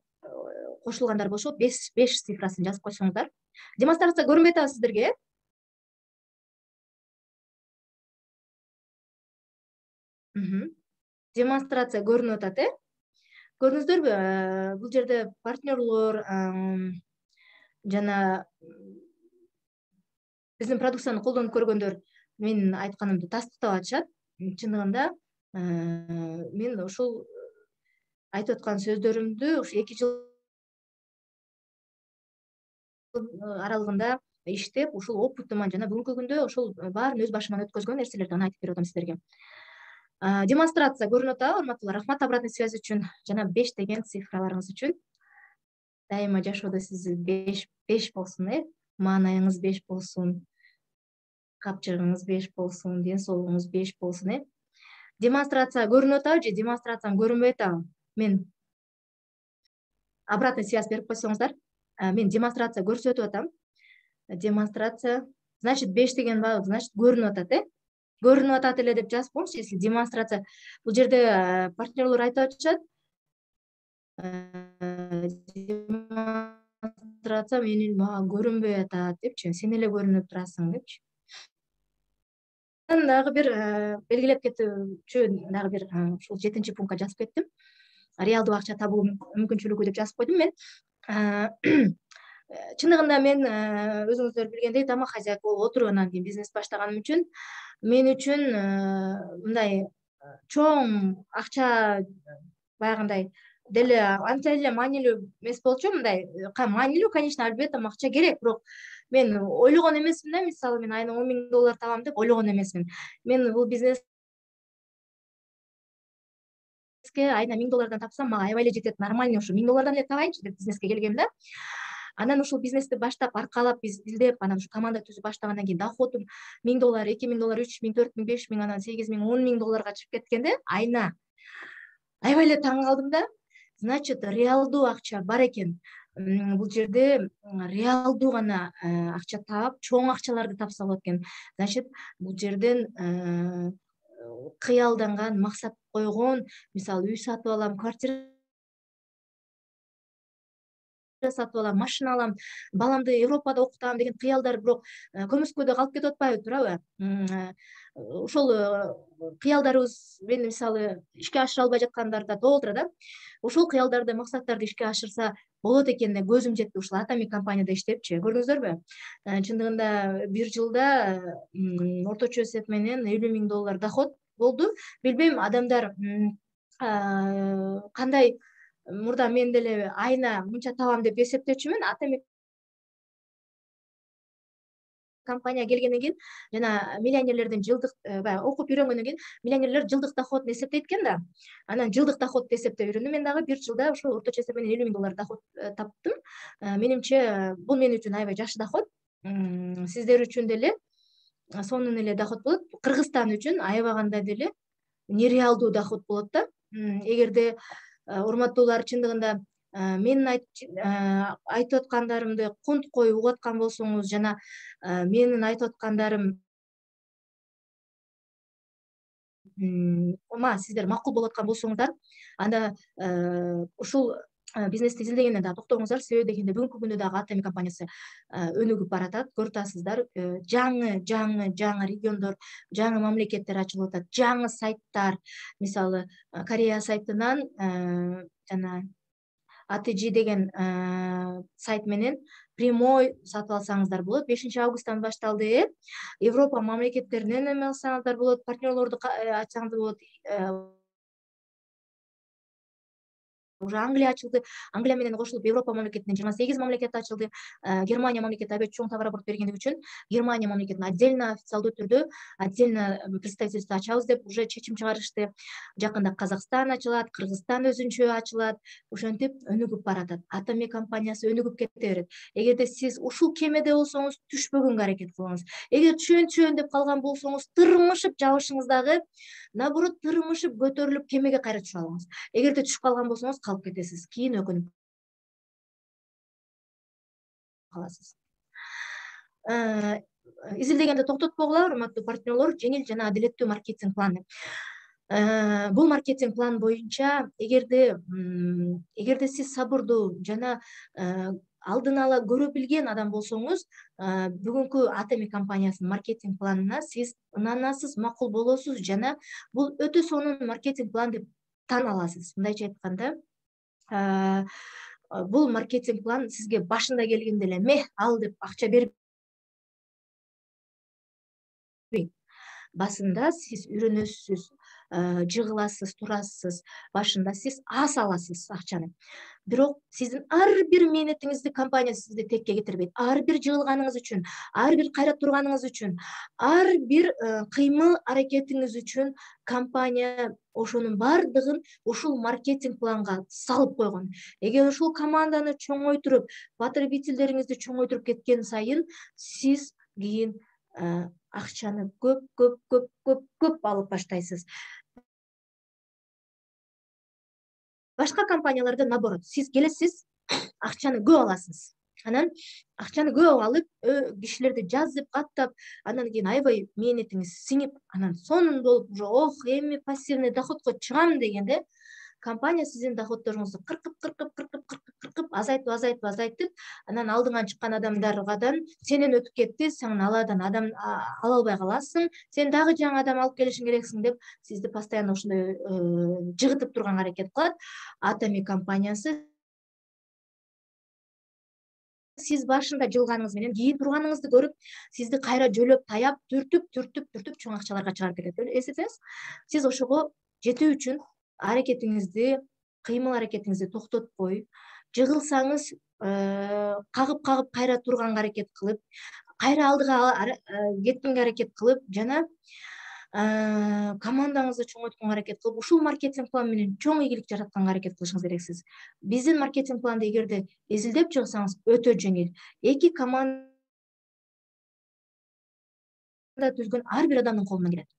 кошулгандар болсо, беш цифрасын жазып койсоңуздар. Демонстрация көрүнбөй атабы сиздерге, э? Демонстрация көрүнүп атат, э? Көрдүңүздөрбү? Бул жерде партнерлор жана биздин продукцияны колдонуп көргөндөр менин айтканымды тастыктап атышат. Чындыгында мен ушул айтып аткан сөздөрүмдү ушу эки жыл аралыгында иштеп, ушул опытыман жана бүгүнкү күндө ошол баарын өз башыман өткөзгөн нерселерди гана айтып берип атам сиздерге. Демонстрация көрүнүп атабы, урматтуулар? Рахмат обратный связь үчүн жана беш деген цифраларыңыз үчүн. Дайыма жашоодо сиз беш беш болсун, э? Маанайыңыз беш болсун, капчыгыңыз беш болсун, ден соолугуңуз беш болсун, э? Демонстрация көрүнүп атабы же демонстрациям көрүнбөй атабы? Мен обратный связь берип койсоңуздар. Мен демонстрация көрсөтүп атам. Демонстрация, значит, беш деген баы, значит, көрүнүп атат, э? Көрүнүп атат эле деп жазып коюңузчу, если демонстрация. Бул жерде партнерлор айтып атышат. Демонстрация менин мага көрүнбөй атат депчи, сен эле көрүнүп турасың депчи. Мен дагы бир белгилеп кетүүчү дагы бир ушул жетинчи пунктка жазып кеттим. Реалдуу акча табуу мүмкүнчүлүгү деп жазып койдум мен. Чындыгында мен өзүңүздөр билгендей тамак хозяйка болуп отуруп анан кийин бизнес баштаганым үчүн мен үчүн мындай чоң акча баягындай деле анча эле маанилүү эмес болчу. Мындай маанилүү, конечно, албетте акча керек, бирок мен ойлогон эмесмин да. Мисалы, мен айына он миң доллар табам деп ойлогон эмесмин. Мен бул бизнеске айына миң доллардан тапсам, мага аябай эле жетет, нормальный ушу миң доллардан эле табайынчы деп бизнеске келгем да. Анан ушул бизнести баштап, аркалап, издеп, анан ушу команда түзүп баштагандан кийин доходум миң доллар, эки миң доллар, үч миң, төрт миң, беш миң, анан сегиз миң, он миң долларга чыгып кеткенде айына аябай эле таң калдым да. Значит, реалдуу акча бар экен. Бул жерде реалдуу гана акча таап, чоң акчаларды тапса болот экен. Значит, бул жерден кыялданган, максат койгон, мисалы, үй сатып алам, квартира сатып алам, машина алам, баламды Европада окутам деген кыялдар бирок көмүскөдө калып кетип атпайбы, туурабы? Ошол кыялдарыбыз мени мисалы ишке ашыра албай жаткандар да болуптур да. Ошол кыялдарды, максаттарды ишке ашырса болот экенине көзүм жетти ушул Атами компанияда иштепчи. Көрдүңүздөрбү? Чындыгында бир жылда орточо эсеп менен элүү миң доллар доход болду. Билбейм, адамдар кандай мурда мен деле айына мынча табам деп эсептечүмүн. Атами компания келгенден кийин жана миллионерлердин жылдык баягы окуп үйрөнгөндөн кийин миллионерлер жылдык доходун эсептейт экен да. Анан жылдык доходду эсептеп үйрөндүм. Мен дагы бир жылда ошол орточо эсеп менен элүү миң доллар доход таптым. Менимче бул мен үчүн аябай жакшы доход. Сиздер үчүн деле сонун эле доход болот. Кыргызстан үчүн аябаганда деле нереалдуу доход болот да. Эгерде урматтуулар чындыгында менин айтып аткандарымды кунткой угуп аткан болсоңуз жана менин айтып аткандарым мага сиздер макул болуп аткан болсоңуздар, анда ушул бизнести изилдегенде дагы токтоңуздар, себеби дегенде бүгүнкү күндө дагы Атоми компаниясы өнүгүп баратат. Көрүп атасыздар, жаңы жаңы жаңы региондор, жаңы мамлекеттер ачылып атат, жаңы сайттар. Мисалы, Корея сайтынан жана А Т Ж деген сайт менен прямой сатып алсаңыздар болот. бешинчи августтан башталды. Европа мамлекеттеринен эме алсаңыздар болот, партнерлорду ачсаңыздар болот. Уже Англия ачылды. Англия менен кошулуп Европа мамлекетинен жыйырма сегиз мамлекет ачылды. Германия мамлекети абед чоң товарооборот бергендиги үчүн Германия мамлекетин отдельно официалдуу түрдө отдельно представительство ачабыз деп уже чечим чыгарышты. Жакында Казакстан ачылат, Кыргызстан өзүнчө ачылат. Ошентип өнүгүп баратат. Атоми компаниясы өнүгүп кете берет. Эгерде сиз ушул кемеде болсоңуз, түшпөгөнгө аракет кылыңыз. Эгер түшөйүн түшөйүн деп калган болсоңуз, тырмышып жабышыңыз дагы, наоборот тырмышып көтөрүлүп кемеге кайра түшүп алыңыз. Эгерде түшүп калган болсоңуз, калып кетесиз. Кийин өкүнүп каласыз. Изилдегенди токтотпогула, урматтуу партнерлор, жеңил жана адилеттүү маркетинг планы. Бул маркетинг план боюнча эгерде эгерде сиз сабырдуу жана алдын ала көрө билген адам болсоңуз, бүгүнкү Атоми компаниясынын маркетинг планына сиз ынанасыз, макул болосуз жана бул өтө сонун маркетинг план деп тан аласыз. Мындайча айтканда, бул маркетинг план сизге башында келгенде эле мeh ал деп акча бербейт. Басында сиз үйрөнөсүз, жыгыласыз, турасыз, башында сиз аз аласыз акчаны. Бирок сиздин ар бир мээнетиңизди компания сизди текке кетирбейт. Ар бир жыгылганыңыз үчүн, ар бир кайра турганыңыз үчүн, ар бир кыймыл аракетиңиз үчүн компания ошонун бардыгын ушул маркетинг планга салып койгон. Эгер ушул команданы чоңойтуруп, потребительдериңизди чоңойтуруп кеткен сайын, сиз кийин акчаны көп көп көп көп көп алып баштайсыз. Башка компанияларда наоборот, сиз келесиз, акчаны көп аласыз. Анан акчаны көп алып, кишилерди жазып, каттап, андан кийин аябай мээнетиңиз сиңип, анан сонун болуп, уже ох, эми пассивный доходко чыгам дегенде, компания сиздин доходдоруңузду кыркып, кыркып, кыркып, кыркып, кыркып, азайтып, азайтып, азайтып, анан алдыңан чыккан адамдаргадан сенен өтүп кетти, сен аладан адам ала албай каласың, сен дагы жаңы адам алып келишиң керексиң деп сизди постоянно ошондой жыгытып турганга аракет кылат. Атоми компаниясы сиз башында жылганыңыз менен кийин турганыңызды көрүп, сизди кайра жөлөп, таяп, түртүп, түртүп, түртүп чоң акчаларга чыгарып кетет. Эсетсеңиз, сиз ошого жетүү үчүн аракетиңизди, кыймыл аракетиңизди токтотпой, жыгылсаңыз, кагып-кагып кайра турганга аракет кылып, кайра алдыга кеткенге аракет кылып жана командаңызды чоңойтконго аракет кылып, ушул маркетинг план менен чоң ийгилик жаратканга аракет кылышыңыз керексиз. Биздин маркетинг планды эгерде изилдеп чыксаңыз, өтө жеңил. Эки команда түзгөн ар бир адамдын колунан келет.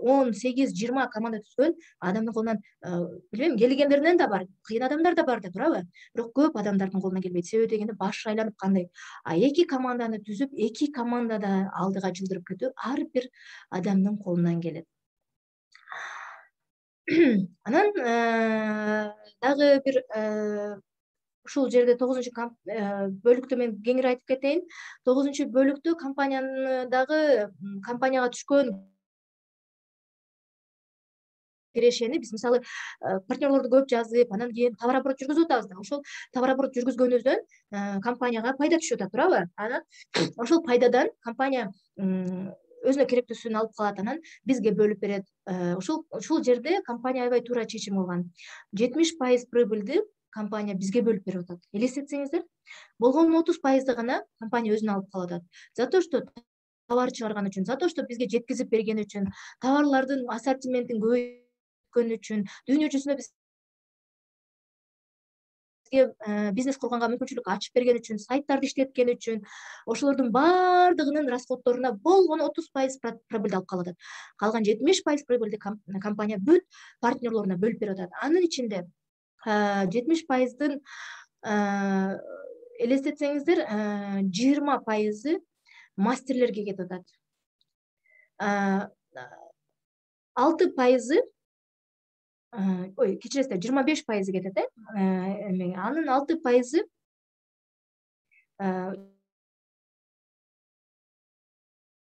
он сегиз жыйырма команда түзгөн адамдын колунан, билбейм, келгендеринен да бар, кыйын адамдар да бар да турабы? Бирок көп адамдардын колунан келбейт. Себеби дегенде башы айланып кандай. А эки команданы түзүп, эки командада алдыга жылдырып кетүү ар бир адамдын колунан келет. Анан дагы бир ушул жерде тогузунчу бөлүктө мен кеңири айтып кетейин. тогузунчу бөлүктө компанияны дагы компанияга түшкөн кирешени биз мисалы партнерлорду көп жазып, анан кийин товарооборот жүргүзүп атабыз да. Ошол товарооборот жүргүзгөнүбүздөн компанияга пайда түшүп атат, туурабы? Анан ошол пайдадан компания өзүнө керектүүсүн алып калат, анан бизге бөлүп берет. Ушул ушул жерде компания аябай туура чечим кылган. жетимиш пайыз прибыльди компания бизге бөлүп берип атат. Элестетсеңиздер, болгон отуз пайызды гана компания өзүнө алып калып атат. За то, что товар чыгарган үчүн, за то, что бизге жеткизип берген үчүн, товарлардын ассортиментин көбөйткөн үчүн, дүйнө жүзүндө бизге бизнес курганга мүмкүнчүлүк ачып берген үчүн, сайттарды иштеткен үчүн, ошолордун бардыгынын расходторуна болгон отуз пайыз прибыльди алып калып атат. Калган жетимиш пайыз прибыльди компания бүт партнерлоруна бөлүп берип атат. Анын ичинде жетимиш пайыздын элестетсеңиздер, жыйырма пайызы мастерлерге кетип атат. алты пайызы ой кечиресиздер жыйырма беш пайызы кетет э эме анын алты пайызы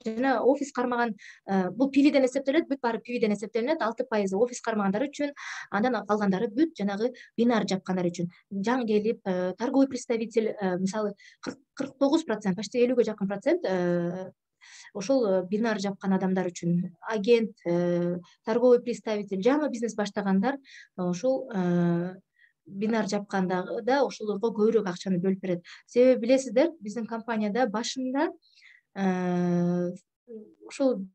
жана офис кармаган бул пивден эсептелет, бүт баары пивден эсептелинет, алты пайызы офис кармагандар үчүн, андан калгандары бүт жанагы бинар жапкандар үчүн. Жаңы келип, торговый представитель, мисалы кырк тогуз процент, почти элүүгө жакын процент ошол бинар жапкан адамдар үчүн. Агент, торговый представитель, жаңы бизнес баштагандар ошол бинар жапканда да ошолорго көбүрөөк акчаны бөлүп берет. Себеби билесиздер, биздин компанияда башында ошол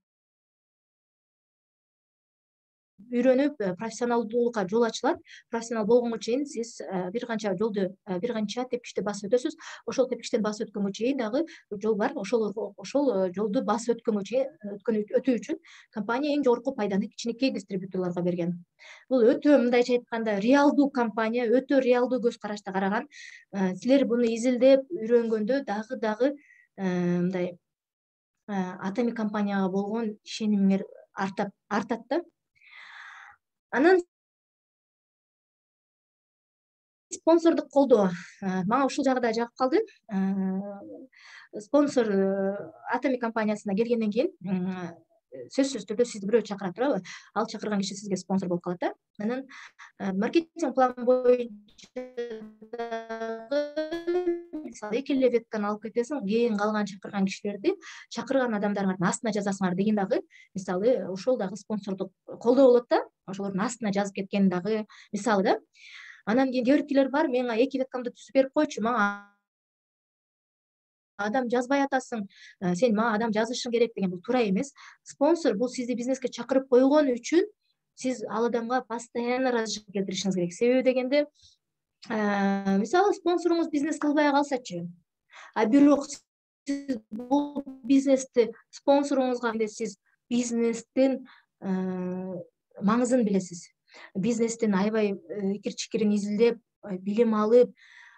үйрөнүп профессионалдуулукка жол ачылат. Профессионал болгонго чейин сиз бир канча жолду, бир канча тепкичти басып өтөсүз. Ошол тепкичтен басып өткөнгө чейин дагы жол бар. Ошол ошол жолду басып өткөнгө чейин өткөн өтүү үчүн компания эң жогорку пайданы кичинекей дистрибьюторлорго берген. Бул өтө мындайча айтканда реалдуу компания, өтө реалдуу көз карашта караган. Силер буну изилдеп үйрөнгөндө дагы дагы мындай Атами компанияга болгон ишенимиңер артат артат да. Анан спонсордук колдоо мага ушул жагы да жагып калды. Спонсор Атами компаниясына келгенден кийин сөзсүз түрдө сизди бирөө чакыра турабы? Ал чакырган киши сизге спонсор болуп калат да. Анан маркетинг план боюнча мисалы эки эле ветканы алып кетесиң, кийин калган чакырган кишилерди чакырган адамдардын астына жазасыңар деген дагы мисалы ошол дагы спонсордук колдоо болот да. Ошолордун астына жазып кеткен дагы мисалы да. Анан кийин кээ биркилер бар, менга эки веткамды түзүп берип койчу, мага адам жазбай атасың, сен мага адам жазышың керек деген бул туура эмес. Спонсор бул сизди бизнеске чакырып койгон үчүн сиз ал адамга постоянно разрешение келтиришиңиз керек. Себеби дегенде мисалы спонсоруңуз бизнес кылбай калсачы, а бирок сиз бул бизнести спонсоруңузга сиз бизнестин маңызын билесиз. Бизнестин аябай икир чикирин изилдеп, билим алып,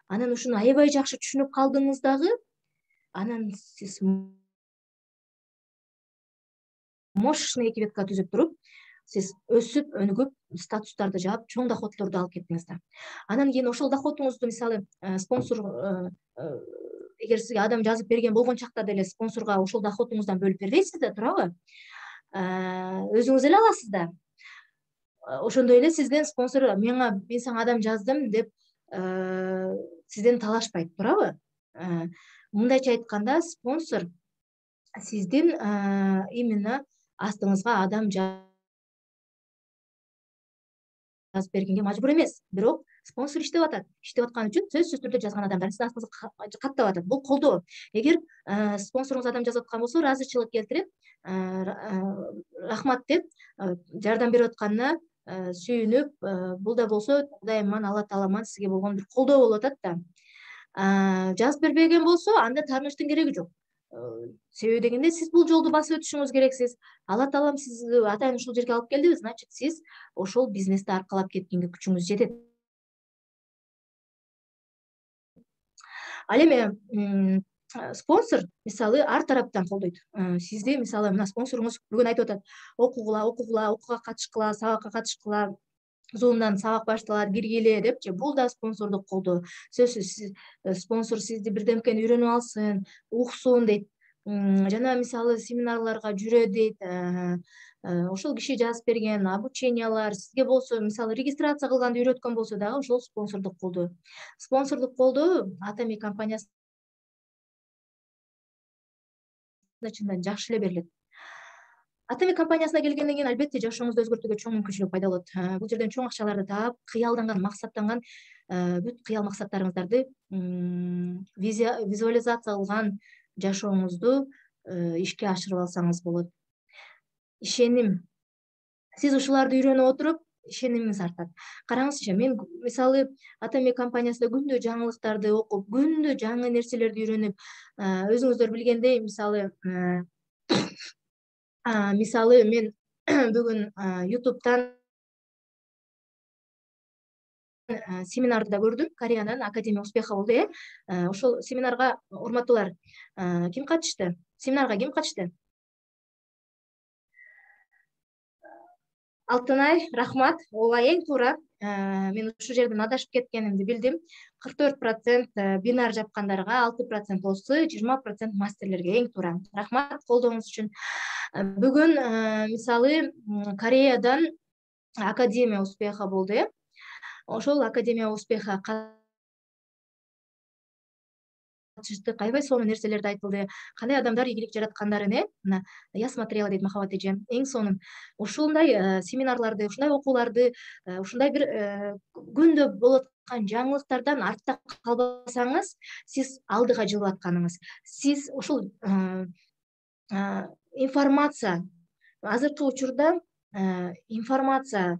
анан ушуну аябай жакшы түшүнүп калдыңыз дагы, анан сиз мощный эки ветка түзүп туруп, сиз өсүп, өнүгүп, статустарды жаап, чоң доходдорду алып кеттиңиз да. Анан кийин ошол доходуңузду мисалы спонсор эгер сизге адам жазып берген болгон чакта деле спонсорго ошол доходуңуздан бөлүп бербейсиз да, туурабы? Өзүңүз эле аласыз да. Ошондой эле сизден спонсор менга мен сага адам жаздым деп сизден талашпайт, туурабы? Мындайча айтканда спонсор сиздин именно астыңызга адам жазып бергенге мажбур эмес. Бирок спонсор иштеп атат. Иштеп аткан үчүн сөзсүз түрдө жазган адамдар сиздин астыңызга каттап атат. Бул колдоо. Эгер спонсоруңуз адам жазып аткан болсо, ыраазычылык келтирип, рахмат деп жардам берип атканына сүйүнүп, бул да болсо Кудайыман, Алла Тааламан сизге болгон бир колдоо болуп атат да. Жазып бербеген болсо, анда таарынычтын кереги жок. Себеби дегенде сиз бул жолду басып өтүшүңүз керексиз. Алла Таалам сизди атайын ушул жерге алып келдиби, значит сиз ошол бизнести аркалап кеткенге күчүңүз жетет. Ал эми спонсор мисалы ар тараптан колдойт. Сизди мисалы мына спонсоруңуз бүгүн айтып атат, окугула, окугула, окууга катышкыла, сабакка катышкыла, Zoom'дан сабак башталат, киргиле депчи. Бул да спонсордук колдоо. Сөзсүз спонсор сизди бирдемкени үйрөнүп алсын, уксун дейт. Жана мисалы семинарларга жүрө дейт. Ошол киши жазып берген обучениялар сизге болсо, мисалы регистрация кылганды үйрөткөн болсо дагы ошол спонсордук колдоо. Спонсордук колдоо Атами компаниясында чындан жакшы эле берилет. Атами компаниясына келгенден кийин албетте жашооңузду өзгөртүүгө чоң мүмкүнчүлүк пайда болот. Бул жерден чоң акчаларды таап, кыялданган, максаттанган бүт кыял максаттарыңыздарды визуализация кылган жашооңузду ишке ашырып алсаңыз болот. Ишеним. Сиз ушуларды үйрөнүп отуруп, ишенимиңиз артат. Караңызчы, мен мисалы Атами компаниясында күндө жаңылыктарды окуп, күндө жаңы нерселерди үйрөнүп, өзүңүздөр билгендей, мисалы мисалы мен бүгүн YouTube'дан семинарды да көрдүм. Кореянын Академия успеха болду, э. Ошол семинарга урматтуулар ким катышты? Семинарга ким катышты? Алтынай, рахмат. Ооба, эң туура. Мен ушул жерден адашып кеткенимди билдим. кырк төрт процент бинар жапкандарга, алты процент болсо, жыйырма процент мастерлерге. Эң туура. Рахмат колдооңуз үчүн. Бүгүн мисалы Кореядан Академия успеха болду, э? Ошол Академия успеха катышты, аябай сонун нерселерди айтылды. Кандай адамдар ийгилик жараткандарын, э? Мына я смотрела дейт Махабат эже. Эң сонун. Ушундай семинарларды, ушундай окууларды, ушундай бир күндө болуп аткан жаңылыктардан артта калбасаңыз, сиз алдыга жылып атканыңыз. Сиз ушул информация, азыркы учурда информацияны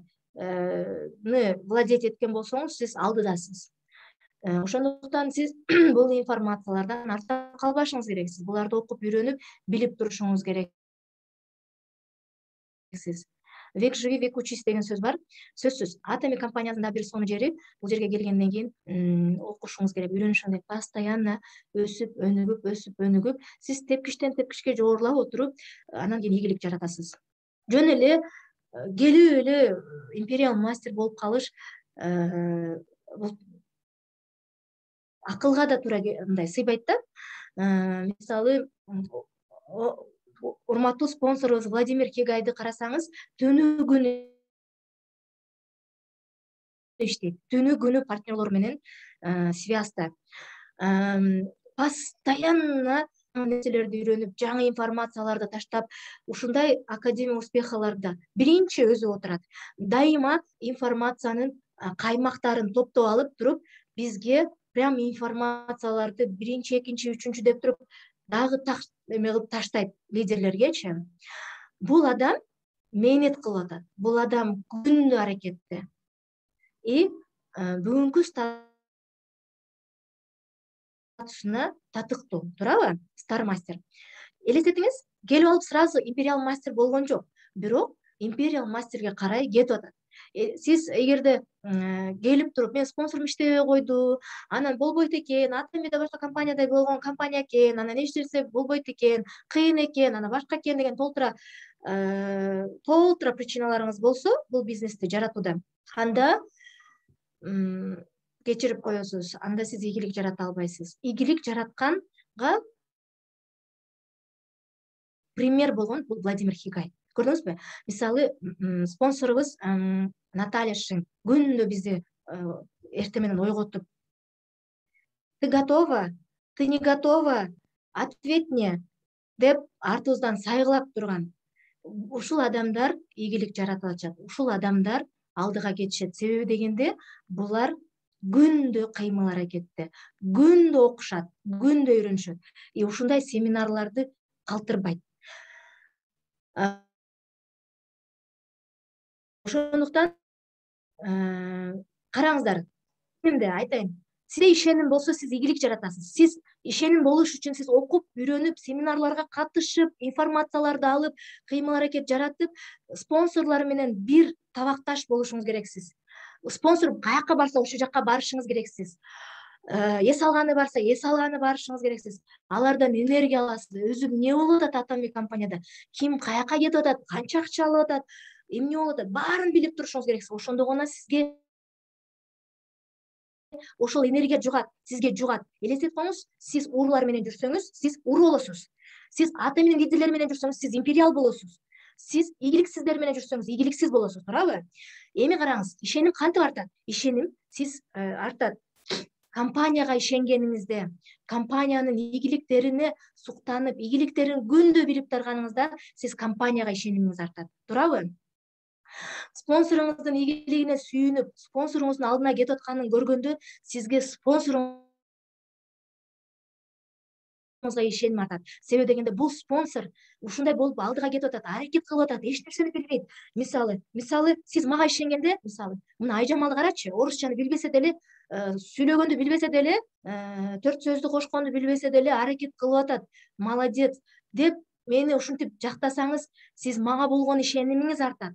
владеть эткен болсоңуз, сиз алдыдасыз. Ошондуктан сиз бул информациялардан артта калбашыңыз керексиз. Буларды окуп, үйрөнүп, билип турушуңуз керексиз. Век живи, век учись деген сөз бар. Сөзсүз. Атоми компаниясында бир сонун жери, бул жерге келгенден кийин окушуңуз керек, үйрөнүшүңүз керек. Постоянно өсүп, өнүгүп, өсүп, өнүгүп, сиз тепкичтен тепкичке жогорулап отуруп, анан кийин ийгилик жаратасыз. Жөн эле келип эле империал мастер болуп калыш акылга да туура мындай сыйбайт да. Мисалы, урматтуу спонсорубуз Владимир Кегайды карасаңыз, түнү күнү иштейт. Түнү күнү партнерлор менен связьда. Постоянно нерселерди үйрөнүп, жаңы информацияларды таштап, ушундай Академия успехаларда биринчи өзү отурат. Дайыма информациянын каймактарын топтоп алып туруп, бизге прям информацияларды биринчи, экинчи, үчүнчү деп туруп, дагы эме кылып таштайт лидерлергечи. Бул адам мээнет кылып атат. Бул адам күндү аракетте. И бүгүнкү статусуна татыктуу, туурабы? Стар мастер. Элестетиңиз, келип алып сразу империал мастер болгон жок. Бирок империал мастерге карай кетип атат. Сиз эгерде келип туруп, мен спонсорум иштебей койду, анан болбойт экен, Атомида башка компанияда болгон компания экен, анан эч нерсе болбойт экен, кыйын экен, анан башка экен деген толтура толтура причиналарыңыз болсо, бул бизнести жаратууда, анда кечирип коесуз, анда сиз ийгилик жарата албайсыз. Ийгилик жаратканга пример болгон бул Владимир Кегай. Көрдүңүзбү? Мисалы, спонсорубуз Наталья Шин күндө бизди эртең менен ойготуп, ты готова, ты не готова, ответь мне деп артыбыздан сайгылап турган. Ушул адамдар ийгилик жарата алышат. Ушул адамдар алдыга кетишет. Себеби дегенде, булар күндө кыймыл аракетте, күндө окушат, күндө үйрөнүшөт. И ушундай семинарларды калтырбайт. Ошондуктан караңыздар, эмне айтайын, сизде ишеним болсо, сиз ийгилик жаратасыз. Сиз ишеним болуш үчүн сиз окуп, үйрөнүп, семинарларга катышып, информацияларды алып, кыймыл аракет жаратып, спонсорлор менен бир табакташ болушуңуз керексиз. Спонсор каяка барса, ошол жакка барышыңыз керексиз. Эс алганы барса, эс алганы барышыңыз керексиз. Алардан энергия аласыз. Өзү эмне болуп атат Атоми компанияда? Ким каяка кетип атат? Канча акча алып атат? Эмне болуп атат? Баарын билип турушуңуз керексиз. Ошондо гана сизге ошол энергия жугат, сизге жугат. Элестетип коюңуз, сиз уруулар менен жүрсөңүз, сиз уру болосуз. Сиз Атоминин лидерлери менен жүрсөңүз, сиз империал болосуз. Сиз ийгиликсиздер менен жүрсөңүз, ийгиликсиз болосуз, туурабы? Эми караңыз, ишеним кантип артат? Ишеним сиз артат компанияга ишенгениңизде, компаниянын ийгиликтерине суктанып, ийгиликтерин күндө билип турганыңызда, сиз компанияга ишенимиңиз артат, туурабы? Спонсоруңуздун ийгилигине сүйүнүп, спонсоруңуздун алдына кетип атканын көргөндө, сизге спонсоруңузга ишеним артат. Себеби дегенде, бул спонсор ушундай болуп алдыга кетип атат, аракет кылып атат, эч нерсени билбейт. Мисалы, мисалы, сиз мага ишенгенде, мисалы, мына Айжамалды карачы, орусчаны билбесе деле, сүйлөгөндү билбесе деле, төрт сөздү кошконду билбесе деле аракет кылып атат. Молодец деп мени ушинтип жактасаңыз, сиз мага болгон ишенимиңиз артат.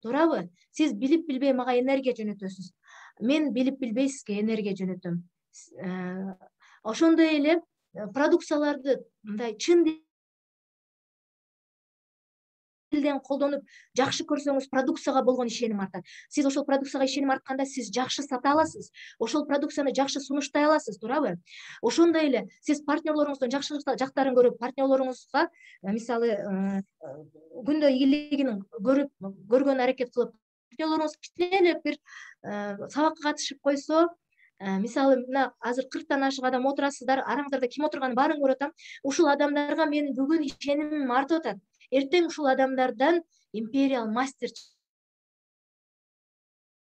Туурабы? Сиз билип билбей мага энергия жөнөтөсүз. Мен билип билбей сизге энергия жөнөтөм. Ошондой эле продукцияларды мындай чын тилден колдонуп жакшы көрсөңүз, продукцияга болгон ишеним артат. Сиз ошол продукцияга ишеним артканда сиз жакшы сата аласыз, ошол продукцияны жакшы сунуштай аласыз, туурабы? Ошондой эле сиз партнерлоруңуздун жакшы жактарын көрүп, партнерлоруңузга мисалы күндө ийгилигин көрүп, көргөн аракет кылып, партнерлоруңуз кичине эле бир сабакка катышып койсо, мисалы мына азыр кырктан ашык адам отурасыздар, араңыздарда ким отурганын баарын көрүп атам. Ушул адамдарга менин бүгүн ишенимим артып атат. Эртең ушул адамдардан империал мастер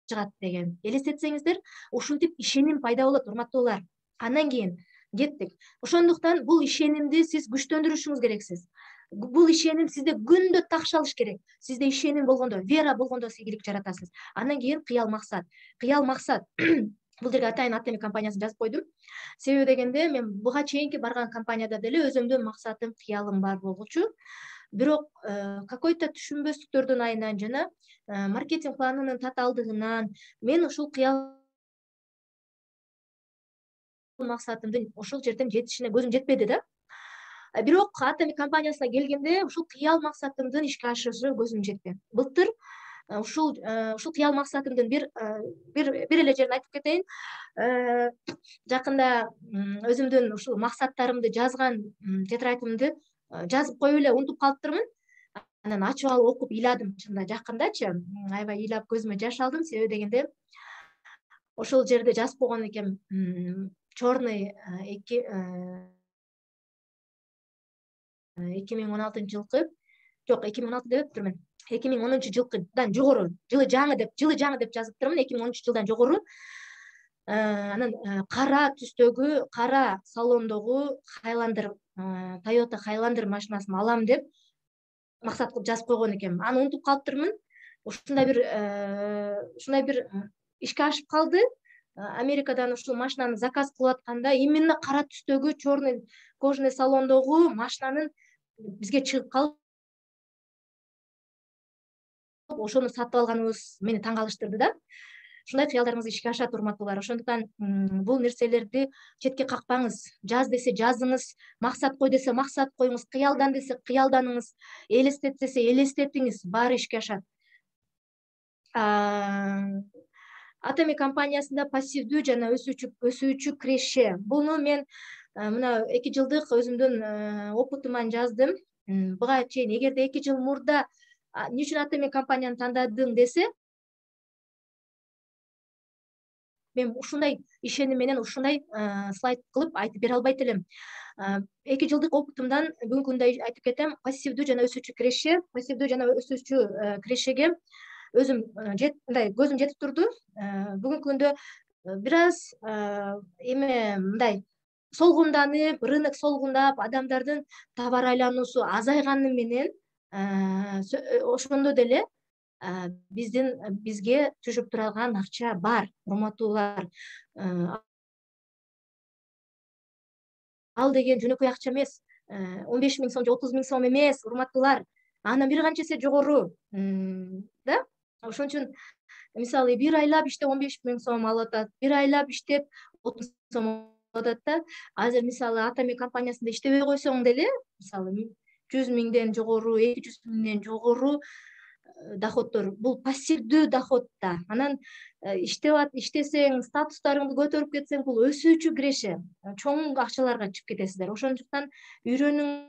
чыгат деген элестетсеңиздер, ушинтип ишеним пайда болот, урматтуулар. Андан кийин кеттик. Ошондуктан бул ишенимди сиз күчтөндүрүшүңүз керексиз. Бул ишеним сизде күндө такшалыш керек. Сизде ишеним болгондо, вера болгондо сиз ийгилик жаратасыз. Андан кийин кыял максат. Кыял максат. Бул жерге атайын Атеми компаниясын жазып койдум. Себеби дегенде мен буга чейинки барган компанияда деле өзүмдүн максатым, кыялым бар болгучу. Бирок какой-то түшүнбөстүктөрдүн айынан жана маркетинг планынын татаалдыгынан мен ушул кыял максатымдын ошол жерден жетишине көзүм жетпеди да. Бирок Атеми компаниясына келгенде ушул кыял максатымдын ишке ашышы көзүм жетти. Былтыр ушул ушул кыял максатымдын бир бир бир эле жерин айтып кетейин. Жакында өзүмдүн ушул максаттарымды жазган тетрадьымды жазып коюп эле унутуп калыптырмын. Анан ачып алып окуп ыйладым, чынында жакындачы. Аябай ыйлап көзүмө жаш алдым, себеби дегенде ошол жерде жазып койгон экем, черный эки эки миң он алтынчы жылкы, жок, эки миң он алты дептирмин. эки миң онунчу жылкыдан жогору, жылы жаңы деп, жылы жаңы деп жазыптырмын, эки миң онунчу жылдан жогору. Анан кара түстөгү, кара салондогу Highlander, Toyota Highlander машинасын алам деп максат кылып жазып койгон экем. Аны унутуп калыптырмын. Ушундай бир ушундай бир ишке ашып калды. Америкадан ушул машинаны заказ кылып атканда именно кара түстөгү, черный кожаный салондогу машинанын бизге чыгып калып, ошону сатып алганыбыз мени таң калыштырды да. Ушундай кыялдарыңыз ишке ашат, урматтуулар. Ошондуктан бул нерселерди четке какпаңыз. Жаз десе жазыңыз, максат кой десе максат коюңуз, кыялдан десе кыялданыңыз, элестет десе элестетиңиз, баары ишке ашат. Атеми компаниясында пассивдүү жана өсүүчү өсүүчү киреше. Буну мен мына эки жылдык өзүмдүн опытыман жаздым. Буга чейин эгерде эки жыл мурда эмне үчүн Атеми компанияны тандадым десе, мен ушундай ишеним менен ушундай слайд кылып айтып бере албайт элем. эки жылдык опытымдан бүгүнкү күндө айтып кетем, пассивдүү жана өсүүчү киреше, пассивдүү жана өсүүчү кирешеге өзүм мындай көзүм жетип турду. Бүгүнкү күндө бир аз эме мындай солгунданып, рынок солгундап, адамдардын товар айлануусу азайганы менен ошондо деле биздин бизге түшүп турган акча бар, урматтуулар. Ал деген жөнөкөй акча эмес, он беш миң сом же отуз миң сом эмес, урматтуулар. Андан бир канча эсе жогору, да? Ошон үчүн мисалы бир айлап иштеп он беш миң сом алып атат, бир айлап иштеп отуз сом алып атат да. Азыр мисалы Атеми компаниясында иштебей койсоң деле, мисалы жүз миңден жогору, эки жүз миңден жогору доходдор, бул пассивдүү доход да. Анан иштеп иштесең, статустарыңды көтөрүп кетсең, бул өсүүчү киреше. Чоң акчаларга чыгып кетесиздер. Ошондуктан үйрөнүңүз,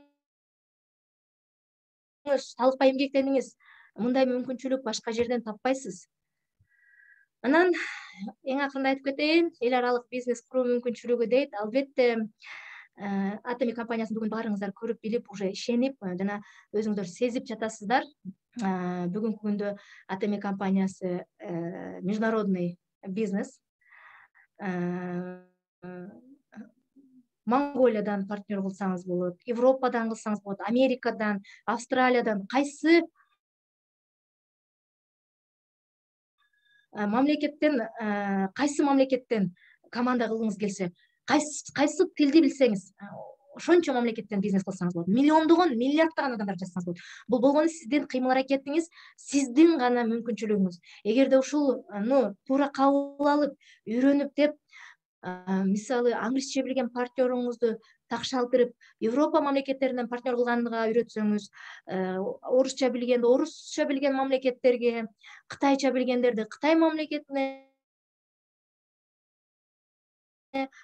талыкпай эмгектениңиз. Мындай мүмкүнчүлүк башка жерден таппайсыз. Анан эң акырында айтып кетейин, эл аралык бизнес куруу мүмкүнчүлүгү дейт. Албетте Атеми компаниясын бүгүн баарыңыздар көрүп билип, уже ишенип жана өзүңүздөр сезип жатасыздар. Бүгүнкү күндө Атеми компаниясы международный бизнес. Монголиядан партнер кылсаңыз болот, Европадан кылсаңыз болот, Америкадан, Австралиядан, кайсы мамлекеттен, кайсы мамлекеттен команда кылгыңыз келсе, кайсы кайсы тилди билсеңиз, ошончо мамлекеттен бизнес кылсаңыз болот. Миллиондогон, миллиарддаган адамдар жазсаңыз болот. Бул болгону сиздин кыймыл аракетиңиз, сиздин гана мүмкүнчүлүгүңүз. Эгерде ушуну туура кабыл алып, үйрөнүп деп, мисалы англисче билген партнеруңузду такшалтырып Европа мамлекеттеринен партнер кылганга үйрөтсөңүз, орусча билгенди орусча билген мамлекеттерге, кытайча билгендерди Кытай мамлекетине,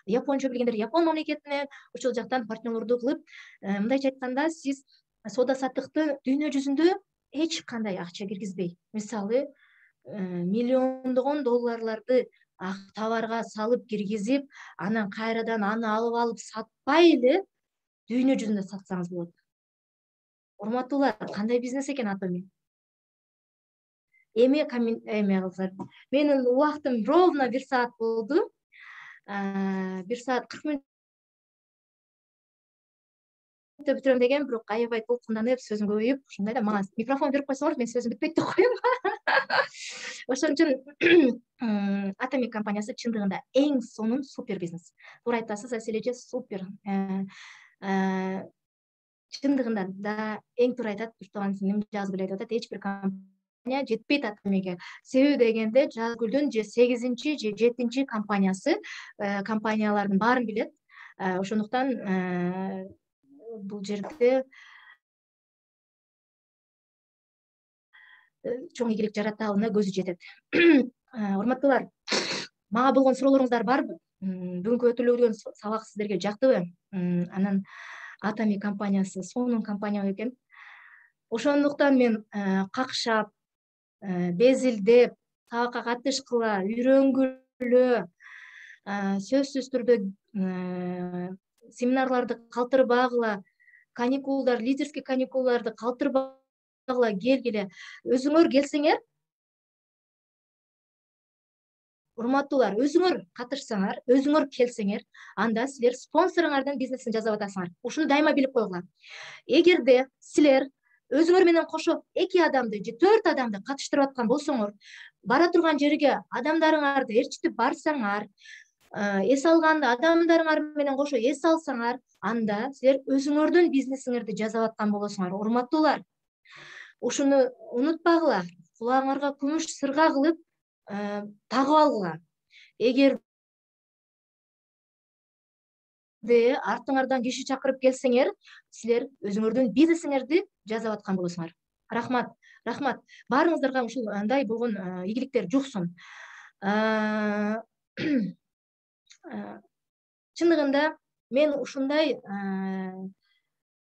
японча билгендер Япон мамлекетинен ошол жактан партнерлорду кылып, мындайча айтканда, сиз соода саттыкты дүйнө жүзүндө эч кандай акча киргизбей, мисалы, миллиондогон долларларды товарга салып киргизип, анан кайрадан аны алып алып сатпай эле дүйнө жүзүндө сатсаңыз болот. Урматтуулар, кандай бизнес экен Atomy? Эми эме кылсак, менин убактым ровно бир саат болду. бир саат кырк мүнөттө бүтүрөм деген, бирок аябай толкунданып, сөзүм көбөйүп, ушундай да мага микрофон берип койсоңор, мен сөзүм бүтпөйт деп коем. Ошон үчүн Atomy компаниясы чындыгында эң сонун супер бизнес. Туура айтасыз, Асележе, супер. Чындыгында да эң туура айтат, Туртуган сиңдим жазып эле айтып атат, эч бир компания жетпейт Atomy'ге. Себеби дегенде, Жазгүлдүн же сегизинчи же жетинчи компаниясы компаниялардын баарын билет. Ошондуктан бул жерде чоң ийгилик жаратабына көзү жетет. Урматтуулар, мага болгон суроолоруңуздар барбы? Бүгүнкү өтүлгөн сабак сиздерге жактыбы? Анан Atomy компаниясы сонун компания экен. Ошондуктан мен какшап, безилдеп, сабакка катышкыла, үйрөнгүлө, сөзсүз түрдө семинарларды калтырбагыла, каникулдар, лидерский каникулдарды калтырбагыла келгиле. Өзүңөр келсеңер, урматтуулар, өзүңөр катышсаңар, өзүңөр келсеңер, анда силер спонсоруңардын бизнесин жасап атасыңар. Ушуну дайыма билип койгула. Эгерде силер өзүңөр менен кошо эки адамды же төрт адамды катыштырып аткан болсоңор, бара турган жерге адамдарыңарды ээрчитип барсаңар, эс алганда адамдарыңар менен кошо эс алсаңар, анда силер өзүңөрдүн бизнесиңерди жасап аткан болосуңар. Урматтуулар, ушуну унутпагыла, кулагыңарга күмүш сырга кылып тагып алгыла. Эгер артыңардан киши чакырып келсеңер, силер өзүңөрдүн бизнесиңерди жасап аткан болосуңар. Рахмат, рахмат. Баарыңыздарга ушундай болгон ийгиликтер жуксун. Чындыгында мен ушундай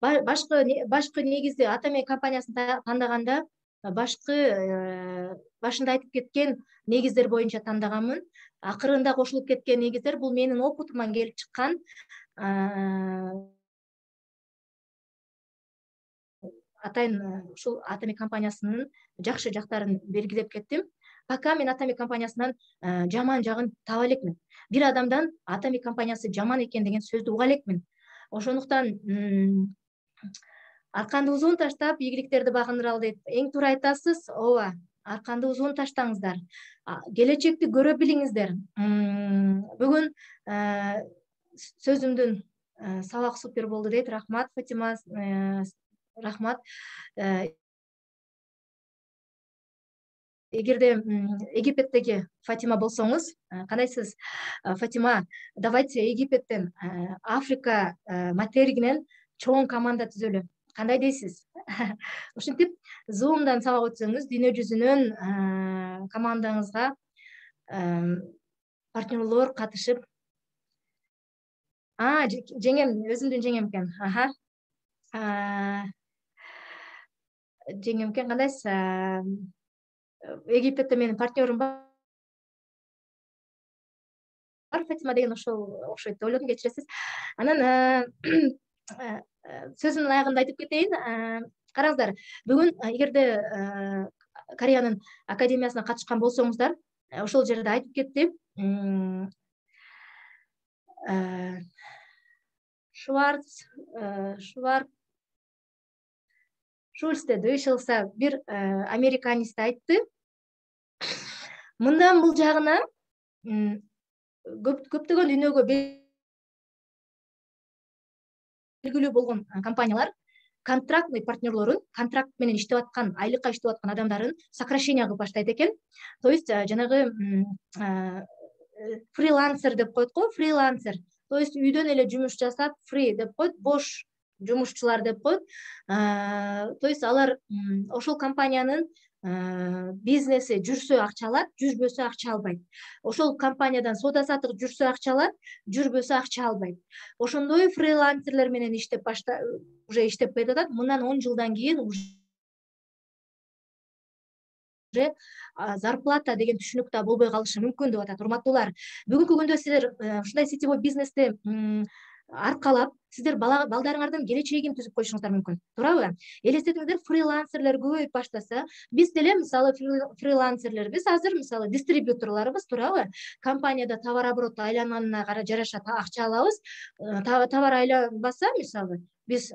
башкы башкы негизди Atomy компаниясын тандаганда, башкы башында айтып кеткен негиздер боюнча тандаганмын. Акырында кошулуп кеткен негиздер бул менин опытыман келип чыккан атайын ушул Atomy компаниясынын жакшы жактарын белгилеп кеттим. Пока мен Atomy компаниясынан жаман жагын таба элекмин. Бир адамдан Atomy компаниясы жаман экен деген сөздү уга элекмин. Ошондуктан арканды узун таштап, ийгиликтерди багындыралы дейт. Эң туура айтасыз, ооба. Арканды узун таштаңыздар. Келечекти көрө билиңиздер. Бүгүн сөзүмдүн сабак супер болду дейт. Рахмат, Фатима. Рахмат. Эгерде Египеттеги Фатима болсоңуз, кандайсыз? Фатима, давайте Египеттен, Африка материгинен чоң команда түзөлү. Кандай дейсиз? Ушинтип, Zoom'дан сабак өтсөңүз, дүйнө жүзүнөн командаңызга партнерлор катышып, А, жеңем, өзүмдүн жеңем экен. Аха. Жеңем экен, кандайсыз? Египетте менин партнерым бар. Фатима деген ошол окшойт деп ойлодум, кечиресиз. Анан сөзүмдүн аягында айтып кетейин. Караңыздар, бүгүн эгерде Кореянын академиясына катышкан болсоңуздар, ошол жерде айтып кетти. Шварц, Шварц, Шульцте дыйшылса бир американист айтты. Мындан бул жагына көптөгөн дүйнөгө белгилүү болгон компаниялар контрактный партнерлорун, контракт менен иштеп аткан, айлыкка иштеп аткан адамдарын сокращение кылып баштайт экен. То есть жанагы фрилансер деп коет го, фрилансер. То есть үйдөн эле жумуш жасап, free деп коет, бош жумушчулар деп коет. То есть алар ошол компаниянын бизнеси жүрсө акча алат, жүрбөсө акча албайт. Ошол компаниядан соода саттык жүрсө акча алат, жүрбөсө акча албайт. Ошондой фрилансерлер менен иштеп башта уже иштеп кетип, мындан он жылдан кийин уже зарплата деген түшүнүк да болбой калышы мүмкүн деп атат. Урматтуулар, бүгүнкү күндө силер ушундай сетевой бизнести аркалап, сиздер балдарыңардын келечегин түзүп коюшуңуздар мүмкүн. Туурабы? Элестетиңиздер, фрилансерлер көбөйүп баштаса, биз деле мисалы фрилансерлербиз, азыр мисалы дистрибьюторлорбуз, туурабы? Компанияда товар обороту айланганына кара жараша акча алабыз. Товар айланбаса, мисалы, биз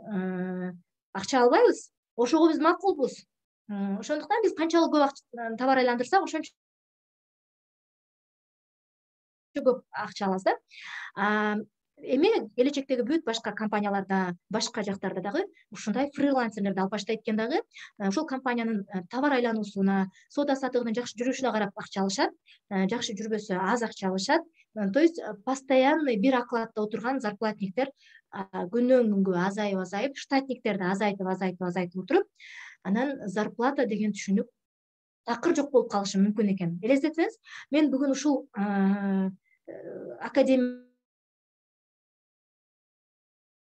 акча албайбыз. Ошого биз макулбуз. Ошондуктан биз канчалык көп товар айландырсак, ошончо көп акча алабыз да. Эми келечектеги бүт башка компанияларда, башка жактарда дагы ушундай фрилансерлерди алып баштайт экен дагы. Ошол компаниянын товар айлануусуна, соода саттыгынын жакшы жүрүшүнө карап акча алышат, жакшы жүрбөсө аз акча алышат. То есть постоянный бир окладда отурган зарплатниктер күндөн күнгө азайып азайып, штатниктерди азайтып азайтып азайтып отуруп, анан зарплата деген түшүнүк такыр жок болуп калышы мүмкүн экен. Элестетсеңиз, мен бүгүн ушул академия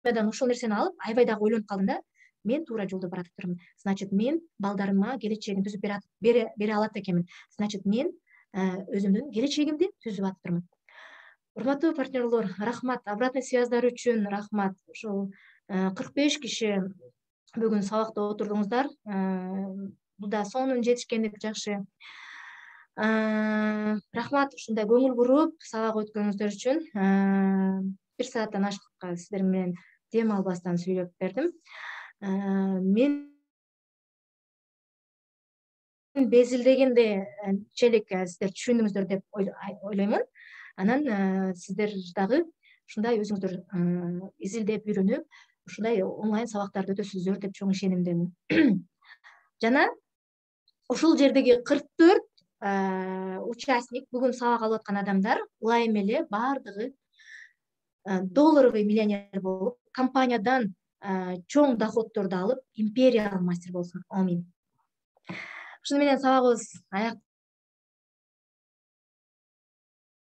ушул нерсени алып, аябай дагы ойлонуп калдым да. Мен туура жолдо баратырмын. Значит, мен балдарыма келечегин түзүп бере алат экенмин. Значит, мен өзүмдүн келечегимди түзүп атырмын. Урматтуу партнерлор, рахмат. Обратный связьдар үчүн рахмат. Ушул кырк беш киши бүгүн сабакта отурдуңуздар. Бул да сонун жетишкендик жакшы. Рахмат, ушундай көңүл буруп сабак өткөнүңүздөр үчүн. Бир сааттан ашыкка сиздер менен дем албастан сүйлөп бердим. Мен безилдегенде челек сиздер түшүндүңүздөр деп ойлоймун. Анан сиздер дагы ушундай өзүңүздөр изилдеп үйрөнүп, ушундай онлайн сабактарды өтөсүздөр деп чоң ишенимдемин. Жана ушул жердеги кырк төрт участник, бүгүн сабак алып аткан адамдар ылайым эле бардыгы долларовый миллионер болуп, компаниядан чоң доходдорду алып, империялык мастер болсун. Амин. Ушуну менен сабагыбыз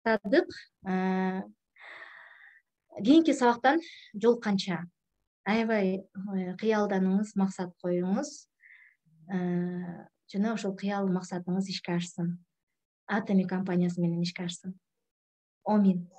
аяктадык. Кийинки сабактан жолукканча аябай кыялданыңыз, максат коюңуз. Жана ошол кыял максатыңыз ишке ашсын. Атоми компаниясы менен ишке ашсын. Амин.